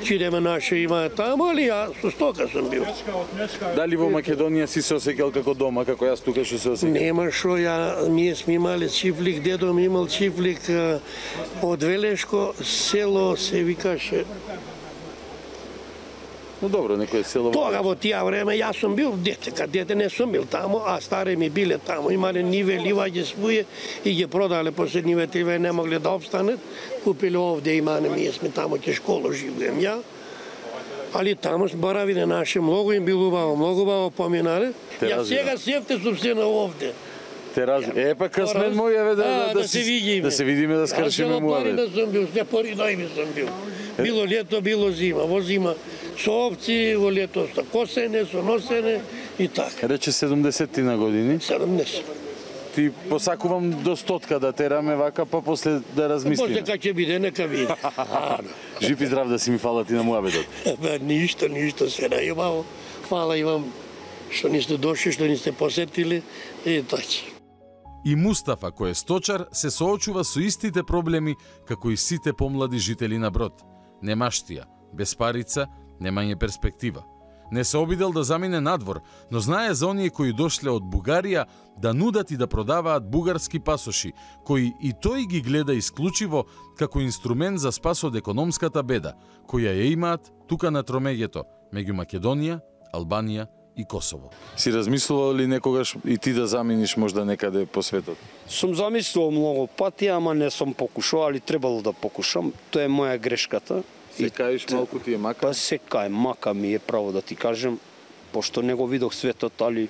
чидеме наше има таму, али ја со стока сум бил. Дали во Македонија си се осеќал како дома, како јас тука што се осеќам? Нема шо, ние сме имали чифлик, дедо ми имал чифлик од Велешко, село се викаше. Ну добро, некој село... Тога во тие време јас сум бил дете не сум бил таму, а стари ми биле таму. Имале ниве, ливаѓе спује и ги продале после нивете, не могле да обстанат. Купиле овде имане, ние сме таму ќе школу живеем ја. Али таму боравиле наше, многу им било убаво поминале. Ја сега севте сум се на овде. Те разумем. Па късмет мој е да се видиме. Да се видиме, да скршиме муавет. Да сум бил, не пори најми сум бил. Било лето, било зима. Во зима со овци, во лето со косене, со носене и така. Рече 70 на години. 70. Ти посакувам до 100 да тераме вака, па после да размислиме. После кај ќе биде, нека биде. Жив и здрав да си ми фала ти на муаветот. Ништо се најубаво. Фала и вам што ни сте дошли, што ни сте посетили и така. И Мустафа, кој е сточар, се соочува со истите проблеми како и сите помлади жители на Брод. Немаштија, безпарица, немање перспектива. Не се обидел да замине надвор, но знае за оние кои дошле од Бугарија да нудат и да продаваат бугарски пасоши, кои и тој ги гледа исклучиво како инструмент за спас од економската беда, која ја имаат тука на тромеѓето, меѓу Македонија, Албанија и Косово. Си размислувал ли некогаш и ти да заминиш можда некаде по светот? Сум замислувал многу пати, ама не сум покушал, али требало да покушам. Тоа е моја грешката. Се каеш малку ти е мака? Па се кај, мака ми е право да ти кажем, пошто не го видох светот, али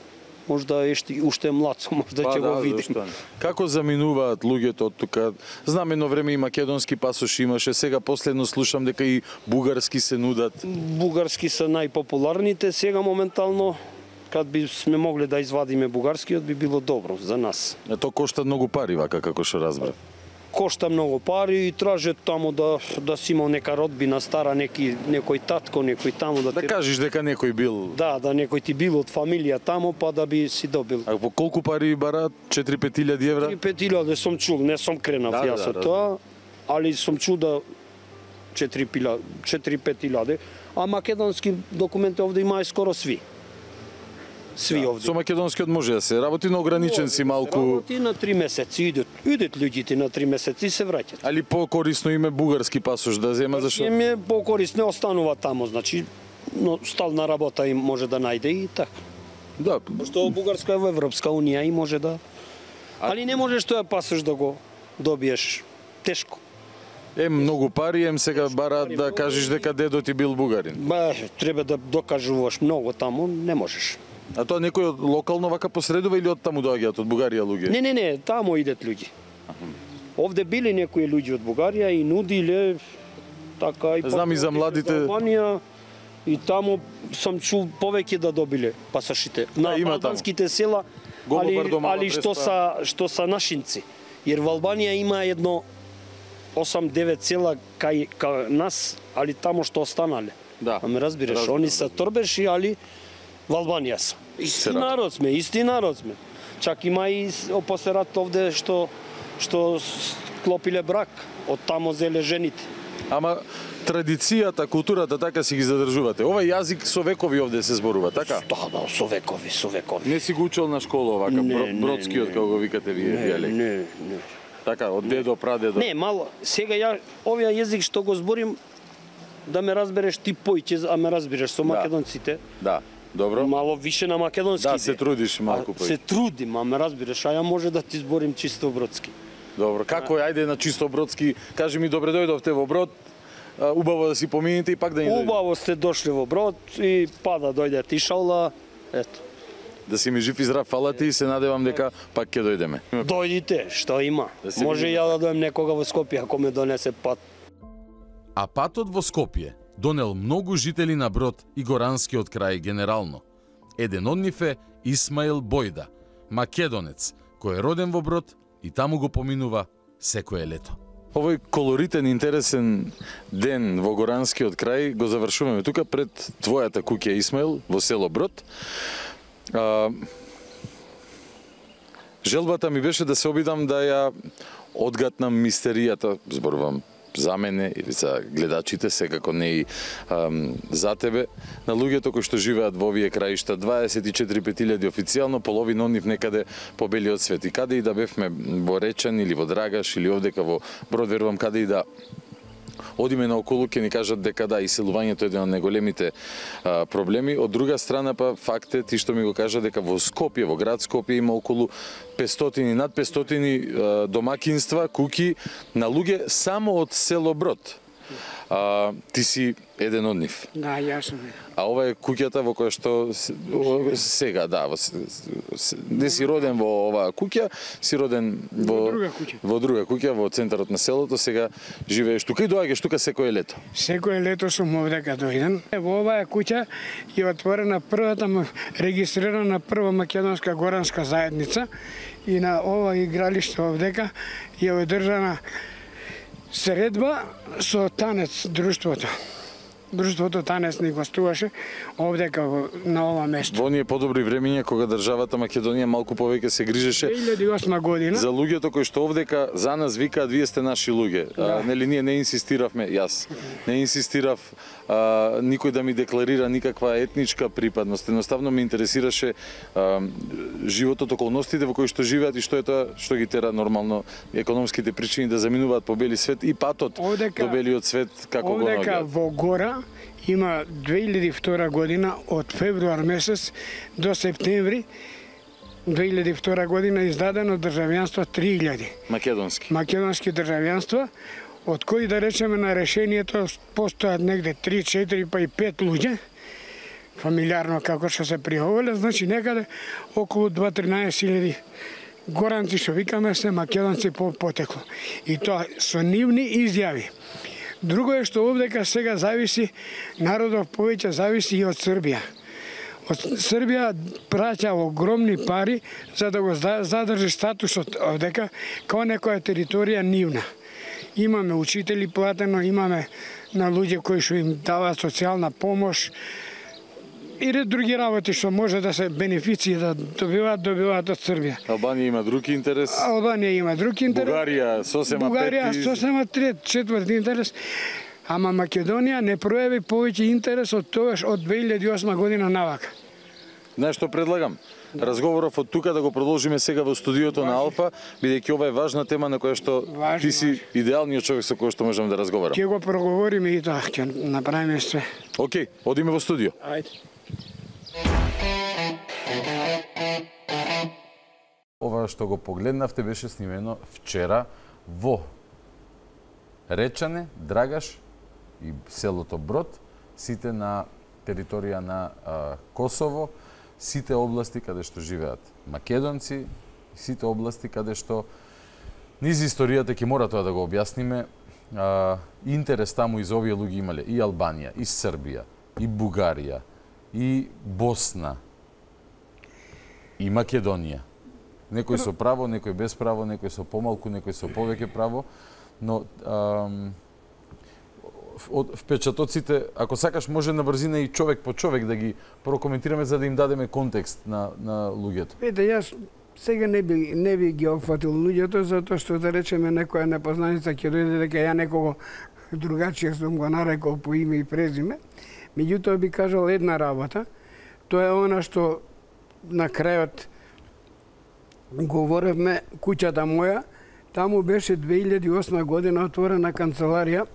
можда уште е млад сум, можда ќе го видим. Како заминуваат луѓето од тука? Знам едно време и македонски пасоши имаше, сега последно слушам дека и бугарски се нудат. Бугарски се најпопуларните, сега моментално кад би сме могли да извадиме бугарскиот би било добро за нас. Тоа кошта многу пари вака како што разбрав. Кошта многу пари и тражат таму да си имал нека родбина стара, некој татко, некој таму да кажеш дека некој бил. Да, некој ти бил од фамилија таму, па да би си добил. А по колку пари бараат? 4-5 евра? 4-5 сум чул, не сум кренав јас од тоа, али сум чул да 4-5 а македонски документи овде имаат скоро сви. Овде. Со македонскиот може да се работи, но ограничен си малку. Работи на 3 месеци, идет луѓите на 3 месеци и се враќаат. Али по-корисно име бугарски пасош да зема, зашто? Име по-корисно останува таму, значи, но стална работа им може да најде и така. Да. Што Бугарска е во Европска унија и може да... Али не можеш тоа пасош да го добиеш тешко. Многу пари, сега бараат да кажеш дека дедо ти бил бугарин. Треба да докажуваш многу таму, не можеш. А тоа некој локално вака посредува или од таму доаѓаат од Бугарија луѓе? Не, таму идат луѓе. Овде били некои луѓе од Бугарија и нудиле така и знам и за младите Албанија и таму сам чул повеќе да добиле пасашите на албанските села, али што са нашинци. Jer во Албанија има едно 8-9 села кај нас, али таму што останале. Да. Аме разбираш, они се торбеши, али во Албанија се. Исти народ сме. Чак има и опосерат овде што склопиле брак, од тамо зеле жените. Ама традицијата, културата така си ги задржувате. Ова јазик со векови овде се зборува, така? Да, со векови. Не си го учел на школа овака, бродскиот, како го викате вие дијалект? Не. Така, од дедо, прадедо? Не, мало. Сега овој јазик што го зборим, да ме разбереш ти поиќе, а ме разбереш со македонците. Да. Добро. Мало више на македонски. Да, се трудиш малку поиќе. Се трудим, а ме разбереш, а ја може да ти зборим чисто бродски. Добро, како е, ајде на чисто бродски, кажи ми добре дојдовте во Брод, убаво да си помините и пак да ни дојдете. Убаво сте дошли во Брод и да дојде тишалла, ето. Да си ми жив и здрав, фала ти и се надевам дека пак ќе дојдеме. Дојдите, што има. Може ја да дојдем некога во Скопје ако ме донесе пат. А патот во Скопје донел многу жители на Брод и Горанскиот крај генерално. Еден од нив е Исмаил Бојда, македонец, кој е роден во Брод и таму го поминува секое лето. Овој колоритен, интересен ден во Горанскиот крај го завршуваме тука пред твојата куќа, Исмаил, во село Брод. Желбата ми беше да се обидам да ја одгатнам мистеријата, зборувам за мене или за гледачите, секако не и за тебе, на луѓето кои што живеат во овие краишта, 24.000 официјално, половина од нив некаде по белиот свет. И каде и да бевме во Речан или во Драгаш или овдека во Брод, верувам каде и да одиме наоколу, ќе ни кажат дека да, иселувањето е еден од најголемите проблеми. Од друга страна, па факт е, ти што ми го кажа, дека во Скопје, во град Скопје има околу 500, над 500 домакинства, куќи на луѓе само од село Брод. Ти си еден од нив. Да, јас сум. А ова е куќата во која што сега, да, не си роден во оваа куќа, си роден во друга куќа, во центарот на селото, сега живееш тука и доаѓаш тука секое лето. Секое лето сум овдека дојден. Во оваа куќа е отворена првата, регистрирана прва македонска горанска заедница и на ова игралиште овдека е одржана средба со танец друштвото. Друштвото танец ни гостуваше овдека на ова место. Во оние подобри времиња кога државата Македонија малку повеќе се грижеше 2008 година за луѓето кои што овдека за нас викаат вие сте наши луѓе. Да. Нели ние не инсистиравме, јас не инсистирав никој да ми декларира никаква етничка припадност. Едноставно ме интересираше животот, околностите во кои што живеат и што е тоа што ги тера нормално економските причини да заминуваат по бели свет и патот до белиот свет како го наоѓаат. Овдека во гора има 2002 година од февруар месец до септември 2002 година издадено државјанство 3000. Македонски државјанства, од кои да речеме на решението постојат негде 3, 4 па и 5 луѓе, фамилиарно како што се пријавиле, значи некаде околу 2-13 горанци што викаме се македонци по потекло. И тоа со нивни изјави. Друго е што овдека сега зависи, народов повеќе зависи и од Србија. Од Србија праќа огромни пари за да го задржи статусот овдека као некоја територија нивна. Имаме учители платено, имаме на луѓе кои што им даваат социјална помош и ред други работи што може да се бенефиции да добиваат од Србија. Албанија има друг интерес. Албанија има друг интерес. Бугарија сосема трет, четврти интерес. Ама Македонија не пројави повеќе интерес од тогаш од 2008 година навака. Знаеш што предлагам? Разговоров од тука да го продолжиме сега во студиото на Алфа, бидејќи ова е важна тема на која што ти си идеалниот човек со кој што можеме да разговараме. Ќе го проговориме и тоа, ќе направиме све. Океј, одиме во студио. Ајде. Ова што го погледнавте беше снимено вчера во Речане, Драгаш и селото Брод, сите на територија на Косово, сите области каде што живеат македонци, сите области каде што низ историјата ќе мора тоа да го објасниме, интерес таму из овие луѓе имале и Албанија, и Србија, и Бугарија, и Босна, и Македонија. Некој со право, некој без право, некој со помалку, некој со повеќе право, но од впечатоците, ако сакаш, може на брзина и човек по човек да ги прокоментираме за да им дадеме контекст на луѓето. Ете, јас сега не би ги опфатил луѓето, затоа што да речеме некоја непознаница ќе дојде дека ја некого другачија сум го нарекол по име и презиме. Меѓутоа би кажал една работа, тоа е она што на крајот говоревме, куќата моја, таму беше 2008 година отворена канцеларија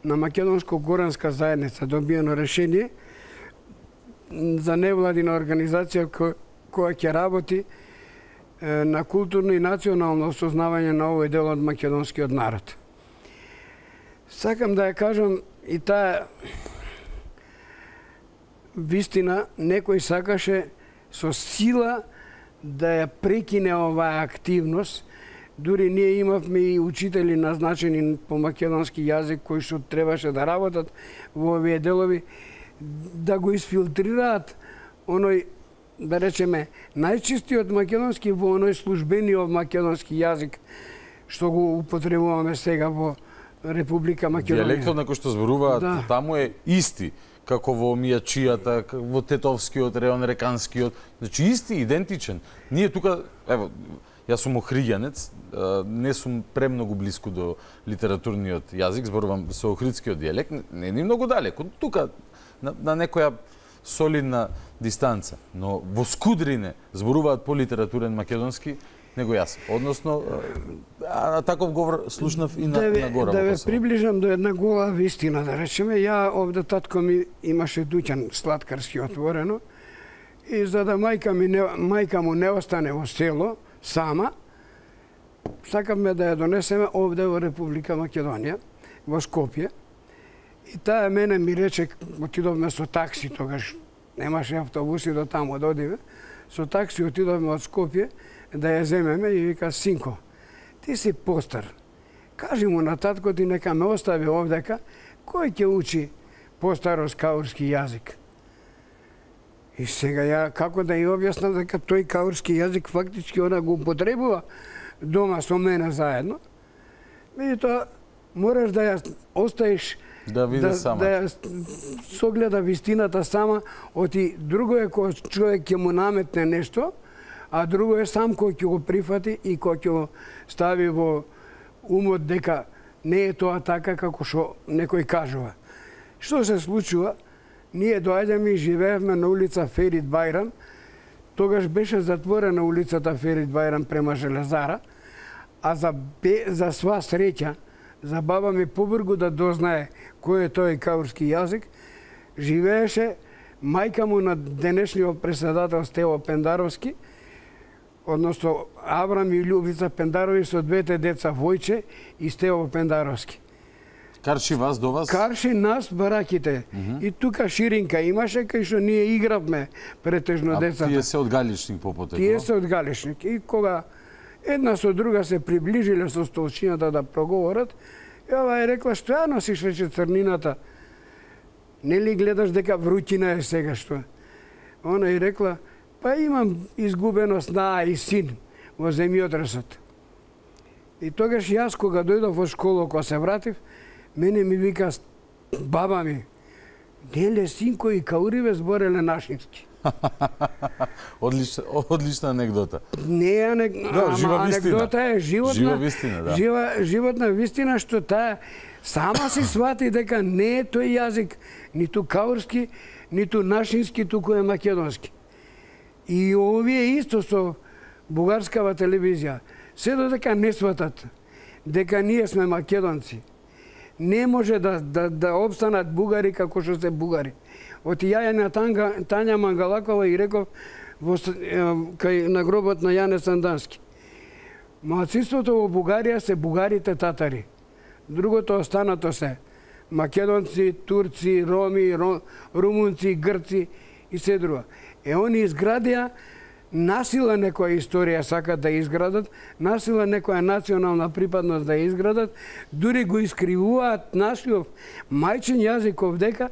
на Македонско-горанска заедница, добиено решение за невладина организација која ќе работи на културно и национално осознавање на овој дел од македонскиот народ. Сакам да ја кажам и таа вистина, некој сакаше со сила да ја прекине оваа активност. Дури ние имавме и учители назначени по македонски јазик кои што требаше да работат во овие делови, да го изфилтрираат оној, да речеме, најчистиот македонски во оној службениот македонски јазик што го употребуваме сега во Република Македонија. Дијалектот на кој што зборуваат таму е исти како во Мијачијата, во Тетовскиот район, Реканскиот, значи исти, идентичен. Ние тука, ево, Јас сум охриѓанец, не сум премногу блиску до литературниот јазик, зборувам со охридскиот дијалект, не ни многу далеко, тука на некоја солидна дистанца, но во Скудрине зборуваат по-литературен македонски него јас. Односно, таков говор слушнав и на гора. Да ве приближам до една гола вистина, да речеме. Ја овде татко ми имаше дуќан сладкарски отворено и за да мајка му не остане во село сама, сакавме да ја донесеме овде во Република Македонија, во Скопје. И таа мене ми рече, отидовме со такси тогаш, немаше автобуси до таму да одиме, со такси отидовме од Скопје да ја земеме и вика, синко, ти си постар, кажи му на татко ти нека ме остави овдека, кој ќе учи постарост каурски јазик? И сега ја како да ја објаснам дека тој каурски јазик фактички она го употребува дома со мене заедно. Меѓутоа, мораш да ја оставиш да ја согледа вистината сама, оти друго е кога човек ќе му наметне нешто, а друго е сам кој ќе го прифати и кој ќе го стави во умот дека не е тоа така како што некој кажува. Што се случува? Ние доаѓаме и живеевме на улица Ферит Бајрам. Тогаш беше затворена улицата Ферит Бајрам према Железара, а за сва среќа, за баба ми побргу да дознае кој е тој каурски јазик, живееше мајка му на денешниот председател Стево Пендаровски, односно Аврам и Љубица Пендарови со двете деца Војче и Стево Пендаровски. Карши вас до вас? Карши нас, бараките. И тука ширинка имаше, кај што ние игравме претежно децата. А тие се од Галичник по потекло? Тие се од Галичник. И кога една со друга се приближиле со столчината да проговорат, ова е рекла, што ја носиш рече црнината? Нели гледаш дека вруќина е сега што? Она и рекла, па имам изгубено снаа и син во земјотресот. И тогаш јас кога дојдов во школа, кога се вратив, мене ми вика баба ми, неле синко и кауриве збореле нашински. Одлична анегдота. Не е анегдота, е животна вистина што таа сама си свати дека не е тој јазик ниту каурски, ниту нашински, туку е македонски. И овие исто со бугарскава телевизија, се додека не сватат дека ние сме македонци, не може да обстанат бугари како што се бугари. Оти ја на Тања Мангалакова и реков кај на гробот на Јане Сандански. Малцинството во Бугарија се бугарите татари. Другото останато се македонци, турци, роми, румунци, грци и се друго. Они изградија насила некоја историја сакат да изградат, насила некоја национална припадност да изградат, дури го искривуваат нашиот мајчин јазик овдека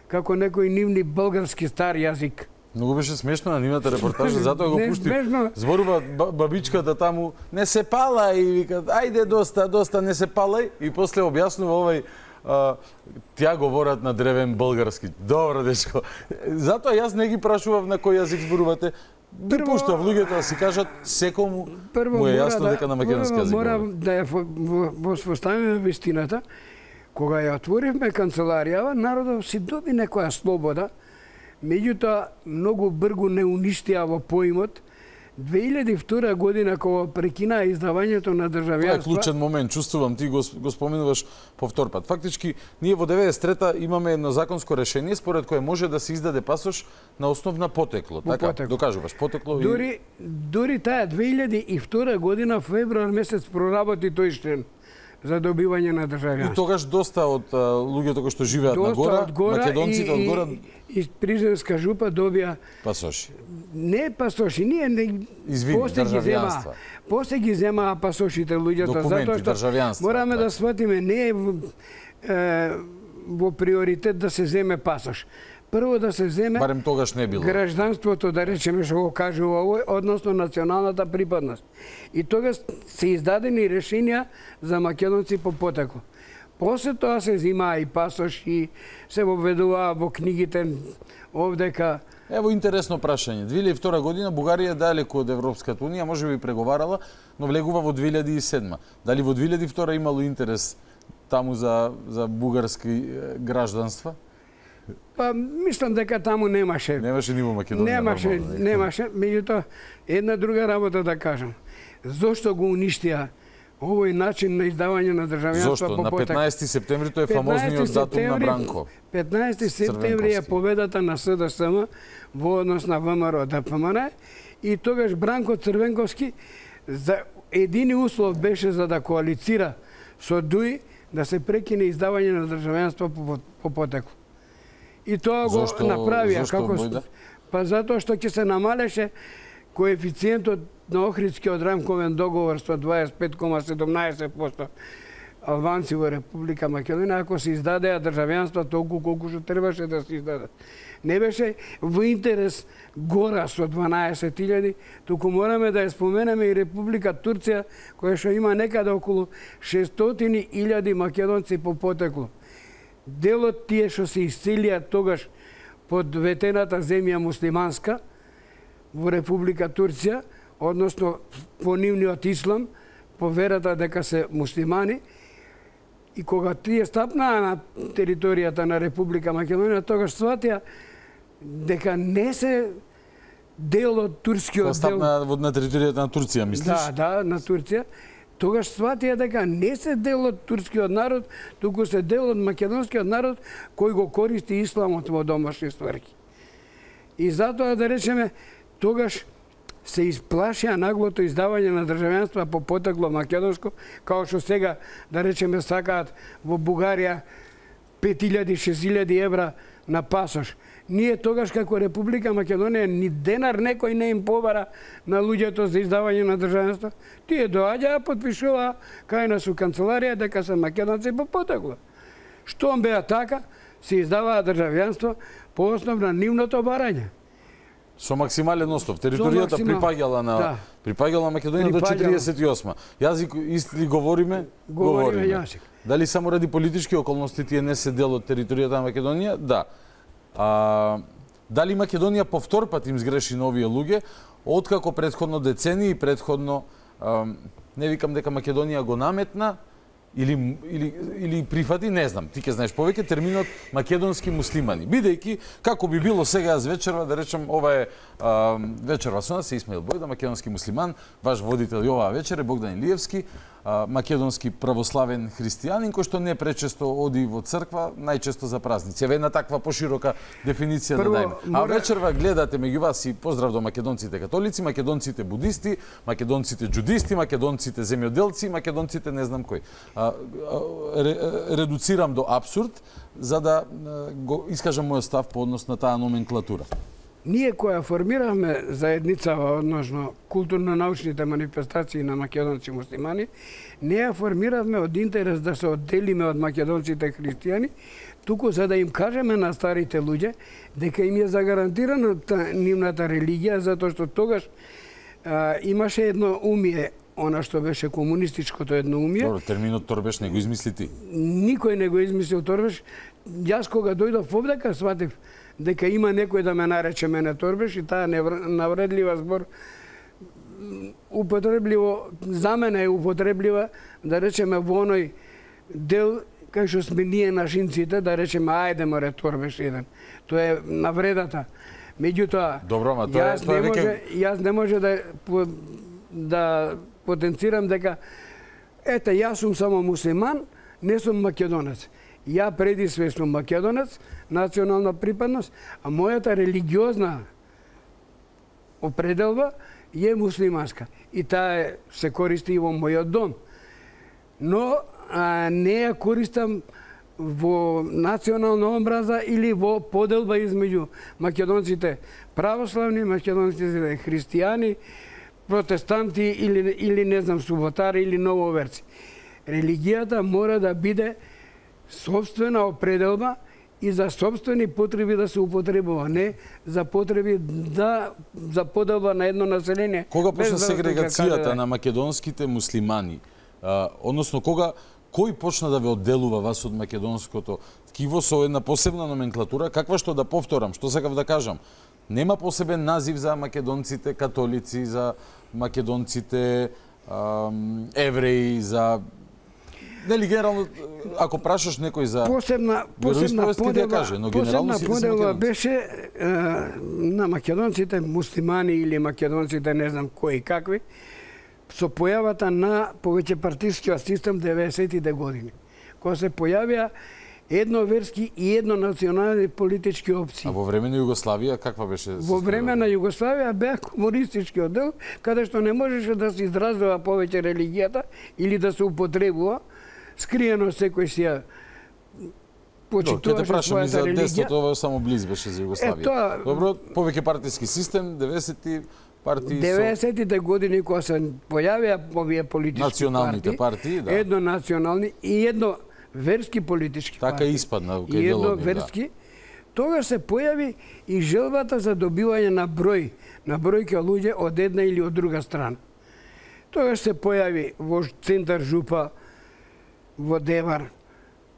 како некој нивни български стар јазик. Многу беше смешно на нивната репортажа, затоа го пушти. Зборува бабичката таму, не се пала и вика, ајде доста, не се палај, и после објаснува овај тја говорат на древен български. Добро, дечко. Затоа јас не ги прашував на кој јазик зборувате. Ги пуштав луѓето да си кажат, секому му е јасно дека на македонски јазик. Мора да ја воспоставиме вистината. Кога ја отворивме канцеларијава, народот си доби некоја слобода, меѓутоа многу бргу не уништија во поимот. 2002 година, кога прекина издавањето на државјанство... Тоа е клучен момент, чувствувам, ти го споменуваш по втор пат. Фактички, ние во 93-та имаме едно законско решение според кое може да се издаде пасош на основ на потекло. Така, докажуваш, потекло и... Дури таа 2002 година, февруар месец, проработи тој член за добивање на државјанство. И тогаш доста од луѓето кои што живеат на гора, македонците од гора... И Призренска жупа добија... Пасоши. Не пасоши, ние не... Извини, државјанства. После ги земаа пасошите луѓето, затоа што мораме да сватиме, не е во приоритет да се земе пасош. Прво да се земе... Барем тогаш не било. Гражданството, да речеме што го кажува овој, односно националната припадност. И тогаш се издадени решенија за македонци по потекло. После тоа се земаа и пасош и се воведуваа во книгите овдека Ево интересно прашање. 2002 година Бугарија далеку од Европската унија, може би преговарала, но влегува во 2007. Дали во 2002 имало интерес таму за бугарски гражданства? Па мислам дека таму немаше. Немаше ни во Македонија. Немаше, меѓутоа една друга работа да кажам. Зошто го уништија овој начин на издавање на државјанство? Зошто? На 15 септември тој е фамозниот датум на Бранко. 15 септември е победата на СДСМ во однос на ВМРО ДПМН и тогаш Бранко Црвенковски за едини услов беше за да коалицира со ДУИ да се прекине издавање на државјанство по потекло. И тоа го направија како па затоа што ќе се намалеше коефициентот на Охридскиот рамковен договор со 25,17% албанци во Република Македонија ако се издадеа државјанства толку колку што требаше да се издадат. Не беше во интерес гора со 12.000, туку мораме да ја споменеме и Република Турција, која што има некаде околу 600.000 македонци по потекло. Дел од тие што се исцелија тогаш под ветената земја муслиманска во Република Турција, односно по нивниот ислам, по верата дека се муслимани, и кога тие стапнаа на територијата на Република Македонија, тогаш сватија дека не се дел од турскиот дел. Стапнаа на територијата на Турција, мислиш? Да, на Турција. Тогаш сватија дека не се дел од турскиот народ, туку се дел од македонскиот народ кој го користи исламот во домашни стварки. И затоа да речеме, тогаш се исплашија наглото издавање на државјанства по потекло македонско, као што сега, да речеме, сакаат во Бугарија 5.000-6.000 евра на пасош. Ние тогаш како Република Македонија ни денар некој не им побара на луѓето за издавање на државјанство. Тие доаѓаа, потпишуваа кај нас у канцеларија дека се македонци по потекло. Штом беа така, се издаваа државјанство по основ на нивното барање. Со максимален остов. Територијата припаѓала Македонија до 48. Јазик исти говориме? Говориме јазик. Дали само ради политички околности тие не се дел од територијата на Македонија? Да. Дали Македонија по втор пат им сгреши на овие луѓе, откако претходно децении, претходно не викам дека Македонија го наметна, или прифати, не знам, ти ќе знаеш повеќе терминот македонски муслимани. Бидејќи, како би било сега јас вечерва, да речем, ова е вечерва со нас, се Исмаил Бојда, македонски муслиман, ваш водител и оваа вечер е Богдан Илиевски, македонски православен христијанин, кој што не пречесто оди во црква, најчесто за празници. Еве една таква поширока дефиниција да дајме. А вечерва гледате меѓу вас и поздрав до македонците католици, македонците будисти, македонците џудисти, македонците земјоделци, македонците не знам кој. Редуцирам до абсурд, за да го искажам мојот став по однос на таа номенклатура. Ние која формиравме заедницава односно културно-научните манифестации на македонци муслимани, не ја формиравме од интерес да се одделиме од македонците христијани, туку за да им кажеме на старите луѓе дека им е загарантирана нивната религија, затоа што тогаш имаше едно умие, она што беше комунистичкото едноумие. Добро, терминот торбеш не го измисли ти. Никој не го измислил торбеш. Јас кога дојдов овдека сватив дека има некој да ме нарече мене торбеш и таа навредлива збор употребливо, за мене е употреблива, да речеме во оној дел кај што сме ние нашинците, да речеме ајде море торбеш еден. Тоа е навредата. Меѓутоа, јас не може да потенцирам дека ете, јас сум само муслиман, не сум македонец. Ја преди све сум македонец, национална припадност, а мојата религиозна определба е муслиманска. И таа се користи и во мојот дом. Но не ја користам во национална омраза или во поделба измеѓу македонците православни, македонците христијани, протестанти или не знам суботари или нововерци. Религијата мора да биде собствена определба и за собствени потреби да се употребува, не за потреби за поделба на едно население. Кога почна сегрегацијата на македонските муслимани? Односно, кој почна да ве одделува вас од македонското ткиво со една посебна номенклатура, каква што да повторам, што сакав да кажам? Нема посебен назив за македонците католици, за македонците евреи, за нели генерално ако прашаш некој за посебна подела беше на македонците муслимани или македонците не знам кои какви со појавата на повеќе партискиот систем 90-тите години, кога се појавија едноверски и еднонационални политички опции. А во време на Југославија каква беше? Во време на Југославија беа комунистичкиот дел, каде што не можеше да се изразува повеќе религијата или да се употребува, скриено секој си ја почитуваше својата религија. Ова само близ беше за Југославија. Добро, повеќе партиски систем, 90-ти партии 90-тите години кога се појавија овие политички партии, да. Еднонационални и едно верски политички партии. Така испадна кај делот. Верски. Тогаш се појави и желбата за добивање на бројки луѓе од една или од друга страна. Тогаш се појави во центар Жупа, во Девар,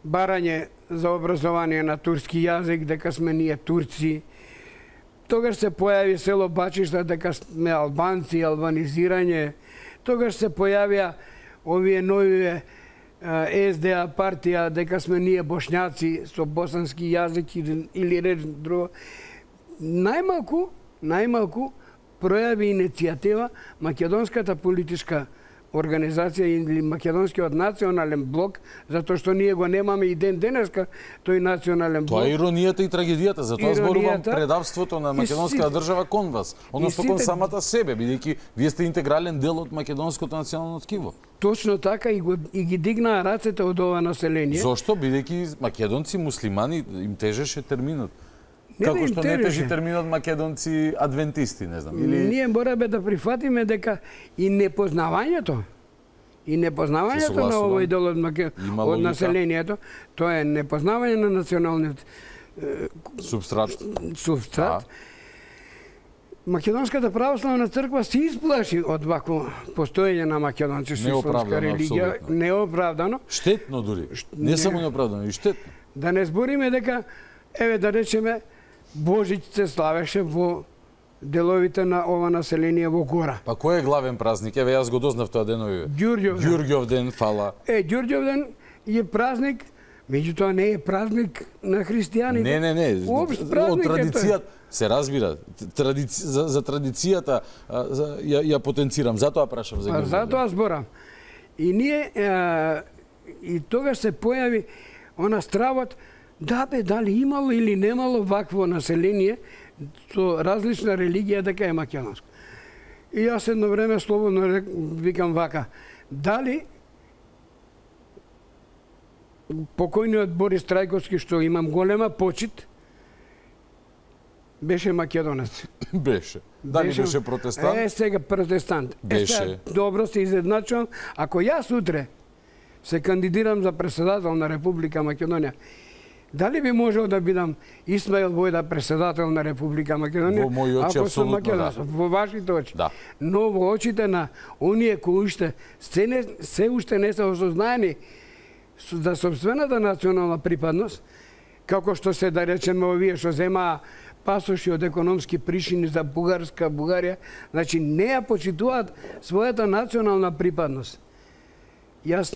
барање за образование на турски јазик, дека сме ние турци. Тогаш се појави село Бачишта, дека сме албанци, албанизирање. Тогаш се појавија овие нови СДА партија, дека сме ние бошњаци со босански јазик или реч друго. Најмалку пројави иницијатива македонската политичка организација или македонскиот национален блок, затоа што ние го немаме и ден денеска тој национален блок. Тоа е иронијата и трагедијата, затоа зборувам предавството на македонската држава кон вас, односно кон самата себе, бидејќи вие сте интегрален дел од македонското национално ткиво. Точно така и ги дигнаа рацете од ова население. Зошто? Бидејќи македонци муслимани им тежеше терминот. Како што не тежи терминот македонци адвентисти, не знам. Ние мораме да прифатиме дека и непознавањето на овој дел од населението, тоа е непознавање на националниот субстрат. Македонската православна црква се исплаши од вакво постоење на македонци со исламска религија, неоправдано. Штетно дури. Не само неоправдано, и штетно. Да не збориме дека еве да речеме Божиќ се славеше во деловите на ова население во Гора. Па кој е главен празник? Еве јас го дознав тоа денови. Ѓурѓов ден, фала. Ѓурѓов ден е празник, меѓутоа не е празник на христијаните. Не. Од традицијата се разбира. За традицијата ја потенцирам, затоа прашам за Ѓурѓов. Затоа зборам. И ние и тогаш се појави она стравот дали имало или немало вакво население со различна религија дека е македонско. И јас едно време слободно викам вака, дали покојниот Борис Трајковски, што имам голема почит, беше македонец. Беше. Дали беше протестант? Сега протестант. Беше. Добро се изедначувам. Ако јас утре се кандидирам за председател на Република Македонија, дали би можел да бидам Исмаил Војда председател на Република Македонија? Во мои очи апсолутно да. Во вашите очи. Да. Но во очите на оние кои уште се уште не се осознаени за собствената национална припадност, како што се да речеме овие што земаа пасоши од економски причини за Бугарија, значи не ја почитуваат својата национална припадност. Јас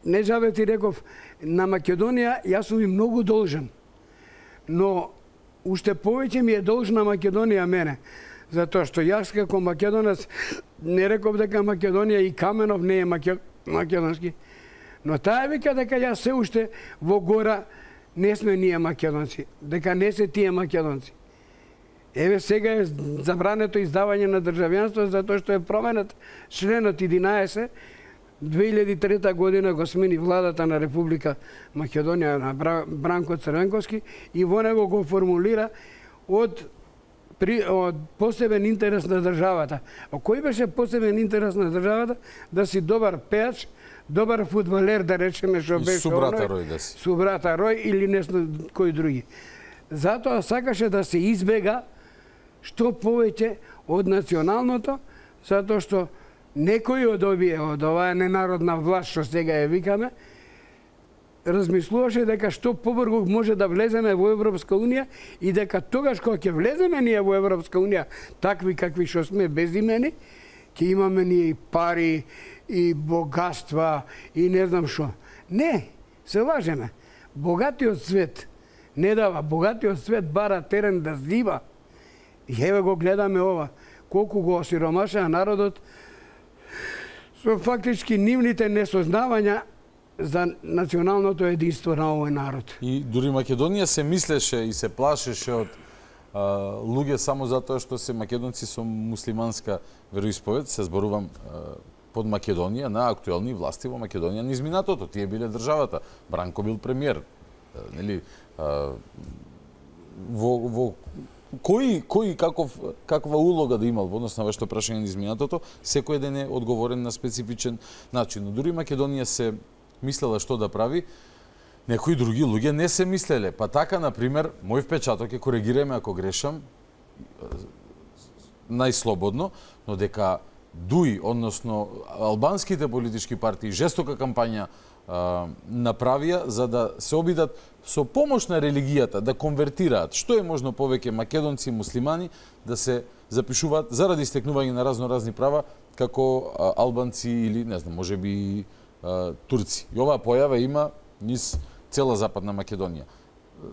не жаве ти реков, на Македонија јас сум и многу должен. Но уште повеќе ми е должна Македонија мене. Затоа што јас како македонец не реков дека Македонија и Каменов не е македонски. Но таа вика дека јас се уште во Гора не сме ние македонци, дека не се тие македонци. Еве сега е забрането издавање на државјанство затоа што е променет членот 11. 2003 година го смени владата на Република Македонија на Бранко Црвенковски и во него го формулира од посебен интерес на државата. А кој беше посебен интерес на државата? Да си добар пејач, добар фудбалер, да речеме што беше Субрата Рој да си. Субрата Рој или не кој други. Затоа сакаше да се избега што повеќе од националното, затоа што некои од овие, од оваа ненародна власт што сега ја викаме, размислуваше дека што побрзо може да влеземе во Европска унија и дека тогаш кога ќе влеземе ние во Европска унија, такви какви што сме безимени, ќе имаме ние и пари, и богатства, и не знам што. Не, се лажеме. Богатиот свет не дава, богатиот свет бара терен да злива. И еве го гледаме ова, колку го осиромашаа народот со фактички нивните несознавања за националното единство на овој народ. И дури Македонија се мислеше и се плашеше од луѓе само затоа што се македонци со муслиманска вероисповед, се зборувам под Македонија, на актуелни власти во Македонија низ минатото. Тие биле државата. Бранко бил премиер. Нели, во кој каква улога да имал во однос на вашето прашање низ минатото, секој ден е одговорен на специфичен начин. Но дури Македонија се мислела што да прави, некои други луѓе не се мислеле. Па така, например, мој впечаток е, коригираме ако грешам, најслободно, но дека ДУИ, односно албанските политички партии, жестока кампања направија за да се обидат со помош на религијата да конвертираат што е можно повеќе македонци и муслимани да се запишуваат заради стекнување на разноразни права како албанци или не знам, можеби турци. И оваа појава има низ цела Западна Македонија.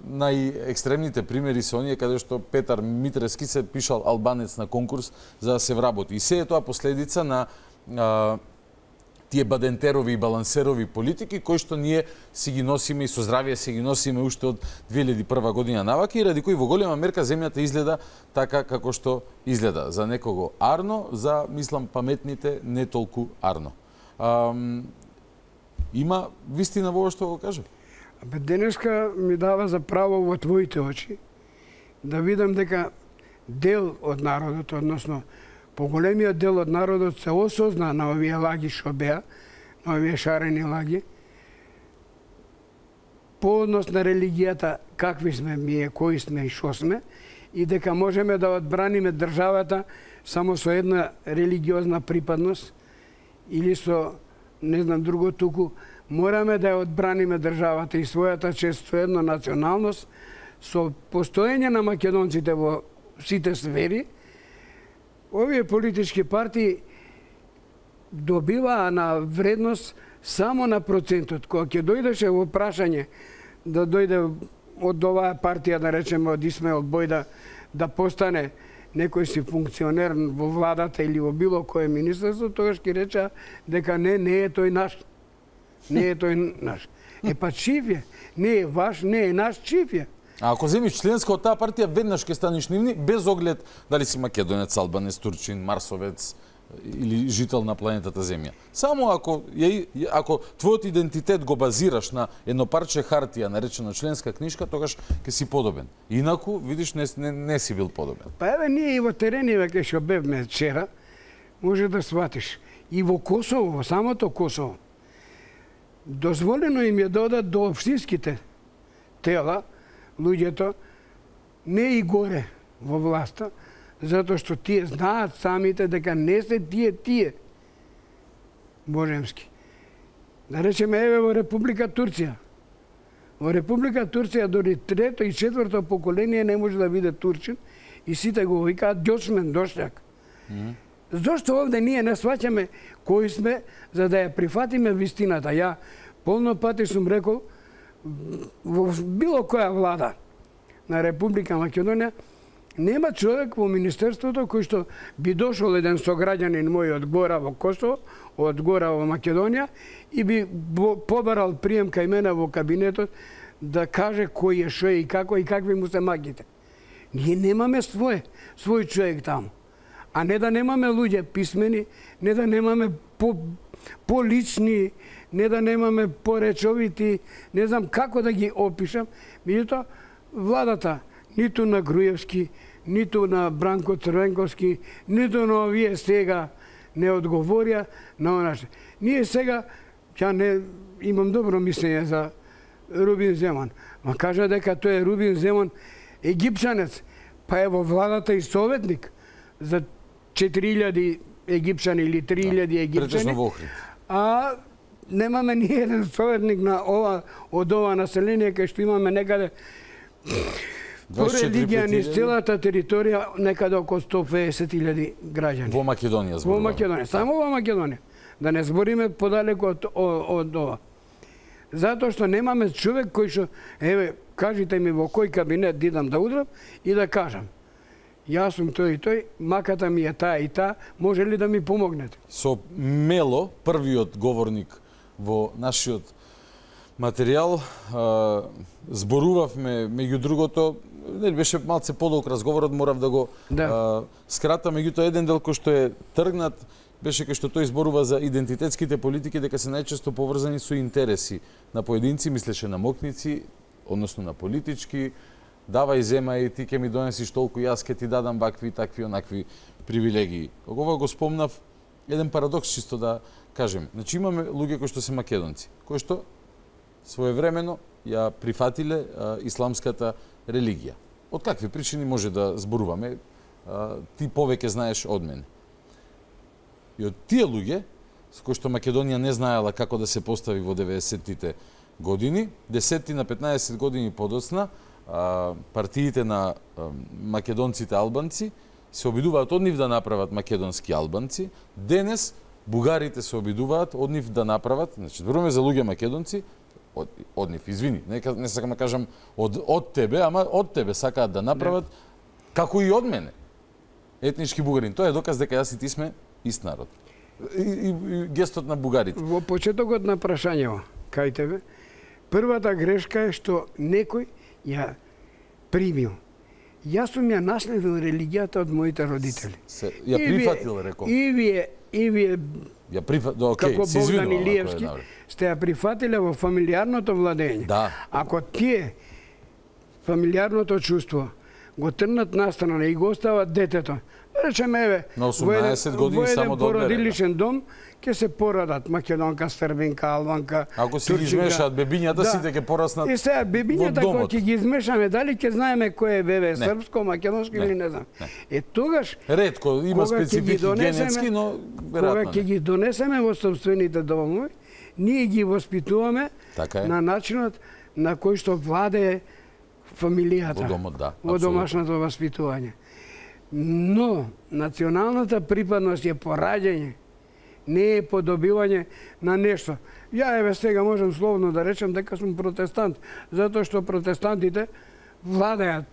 Најекстремните примери се оние каде што Петар Митрески се пишал албанец на конкурс за да се вработи. И се е тоа последица на тие бадентерови и балансерови политики кои што ние си ги носиме и со здравие си ги носиме уште од 2001 година навака и ради кои во голема мерка земјата изгледа така како што изгледа. За некого арно, за мислам паметните не толку арно. Има вистина во ова што го кажа? Денеска ми дава за право во твоите очи да видам дека дел од народот, односно поголемиот дел од народот се осозна на овие лаги што беа, на овие шарени лаги, по однос на религијата, какви сме ние, кои сме и што сме, и дека можеме да одбраниме државата само со една религиозна припадност или со, не знам, друго туку, мораме да ја одбраниме државата и својата чест со една националност, со постоење на македонците во сите сфери. Овие политички партии добиваа на вредност само на процентот. Кога ќе дојдеше во прашање да дојде од оваа партија, да речеме од Исмаил Бојда, да постане некој си функционер во владата или во било кое министерство, тогаш ќе реча дека не е тој наш. Не е тој наш. Па чив е? Не е ваш, не е наш, чив е? А ако земиш членска од таа партија, веднаш ќе станеш нивни, без оглед дали си македонец, албанец, турчин, марсовец или жител на планетата Земја. Само ако твојот идентитет го базираш на едно парче хартија, наречено членска книжка, тогаш ќе си подобен. Инаку, видиш, не си бил подобен. Па еве, ние и во терениве кај што бевме вчера, може да сватиш. И во Косово, во самото Косово, дозволено им е да одат до општинските тела, луѓето, не и горе во власта, затоа што тие знаат самите дека не се тие божемски. Да речеме, еве во Република Турција. Во Република Турција дори трето и четврто поколение не може да биде турчин и сите го викаат ѓосмен, дошљак. Зошто овде ние не сваќаме кои сме, за да ја прифатиме вистината? Ја полно пати сум рекол, во било која влада на Република Македонија, нема човек во Министерството кој што би дошол еден сограѓанин мој од гора во Косово, од гора во Македонија и би побарал прием кај мене во кабинетот да каже кој е, шо е и како и какви му се магите. Ние немаме свој човек таму. А не да немаме луѓе писмени, не да немаме полични, не да немаме поречовити, не знам како да ги опишам. Меѓутоа, владата, ниту на Груевски, ниту на Бранко Црвенковски, ниту на овие сега не одговорија на она што. Ние сега, ја не имам добро мислење за Рубин Земан, ма кажа дека тој е Рубин Земан египчанец, па е во владата и советник за 4000 египчани или 3000 египчани. А немаме ни еден советник на од ова население кај што имаме некаде по религија низ целата територија некаде околу 150.000 граѓани. Во Македонија зборуваме. Во Македонија, само во Македонија. Да не збориме подалеку од ова. Затоа што немаме човек кој што, еве, кажите ми во кој кабинет да идам да удрам и да кажам. Јас сум тој и тој, маката ми е таа и таа, може ли да ми помогнете? Со Мело, првиот говорник во нашиот материјал, зборувавме, меѓу другото, беше малце подолг разговорот, морав да го скратам, меѓутоа еден дел кој што е тргнат, беше кај што тој зборува за идентитетските политики, дека се најчесто поврзани со интереси на поединци, мислеше на мокници, односно на политички, давај, земај, ти ќе ми донесиш толку, јас ќе ти дадам вакви, такви, онакви привилегии. Ова го спомнав, еден парадокс чисто да кажем. Значи имаме луѓе кои што се македонци, кои што своевремено ја прифатиле исламската религија. Од какви причини може да зборуваме, ти повеќе знаеш од мене. И од тие луѓе, со кои што Македонија не знаела како да се постави во 90-тите години, 10 на 15 години подоцна, партиите на македонците албанци се обидуваат од нив да направат македонски албанци. Денес бугарите се обидуваат од нив да направат, значи зборуваме за луѓе македонци, од нив, извини, не сакам да кажам од тебе, ама од тебе сакаат да направат, како и од мене, етнички бугарин. Тоа е доказ дека јас и ти сме ист народ. И гестот на бугарите. Во почетокот на прашањето, кај тебе, првата грешка е што некој ја примил. Јас сум ја наследил религијата од моите родители. Ја прифатил, рекол. И вие ја прифатил, окей, како Богдан Илиевски, сте ја прифатиле во фамилиарното владење. Да. Ако тие фамилиарното чувство го трнат настрана и го остават детето, речеме, еве, на 18 години само да породилишен дом, ќе се порадат македонка, србинка, албанка, ако си ги измешаат бебињата, сите ќе пораснат. И сега бебињата кога ќе ги измешаме, дали ќе знаеме кој е бебе, српско, македонско или не знам. Тогаш ретко има специфики генетски, но веројатно. Кога ќе ги донесеме во собствените домови, ние ги воспитуваме на начинот на кој што владее фамилијата. Во домот, да. Во домашното воспитување. Но националната припадност е пораѓање, не е подобивање на нешто. Ја еве сега можам словно да речем дека сум протестант, затоа што протестантите владеат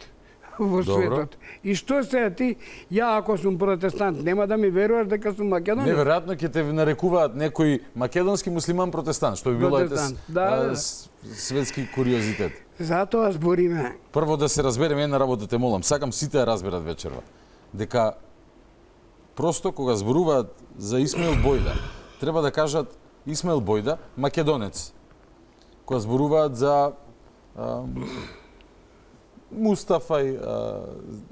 во светот. И што сега ти, ја ако сум протестант, нема да ми веруваш дека сум македонец? Неверојатно ќе те нарекуваат некој македонски муслиман протестант, што би било светски куриозитет. Затоа збориме. Прво да се разбереме една работа, те молам, сакам сите да разберат вечерва, дека просто кога зборуваат за Исмаил Бојда, треба да кажат Исмаил Бојда, македонец. Кога зборуваат за Мустафај,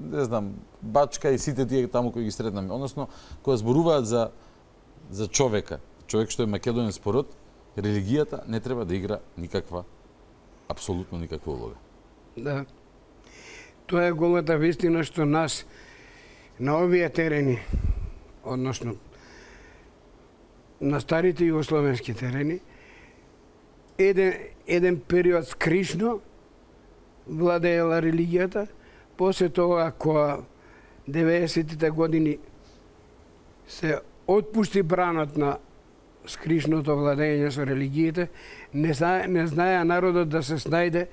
не знам, Бачка и сите тие таму кои ги сретнаме. Односно, кога зборуваат за човека, човек што е македонец по род, религијата не треба да игра никаква, апсолутно никаква улога. Да. Тоа е голата вистина што нас на овие терени, односно на старите југословенски терени, еден период скришно владеела религијата, после тоа кога 90-тите години се отпушти бранот на скришното владење со религиите, не знаеа народот да се снајде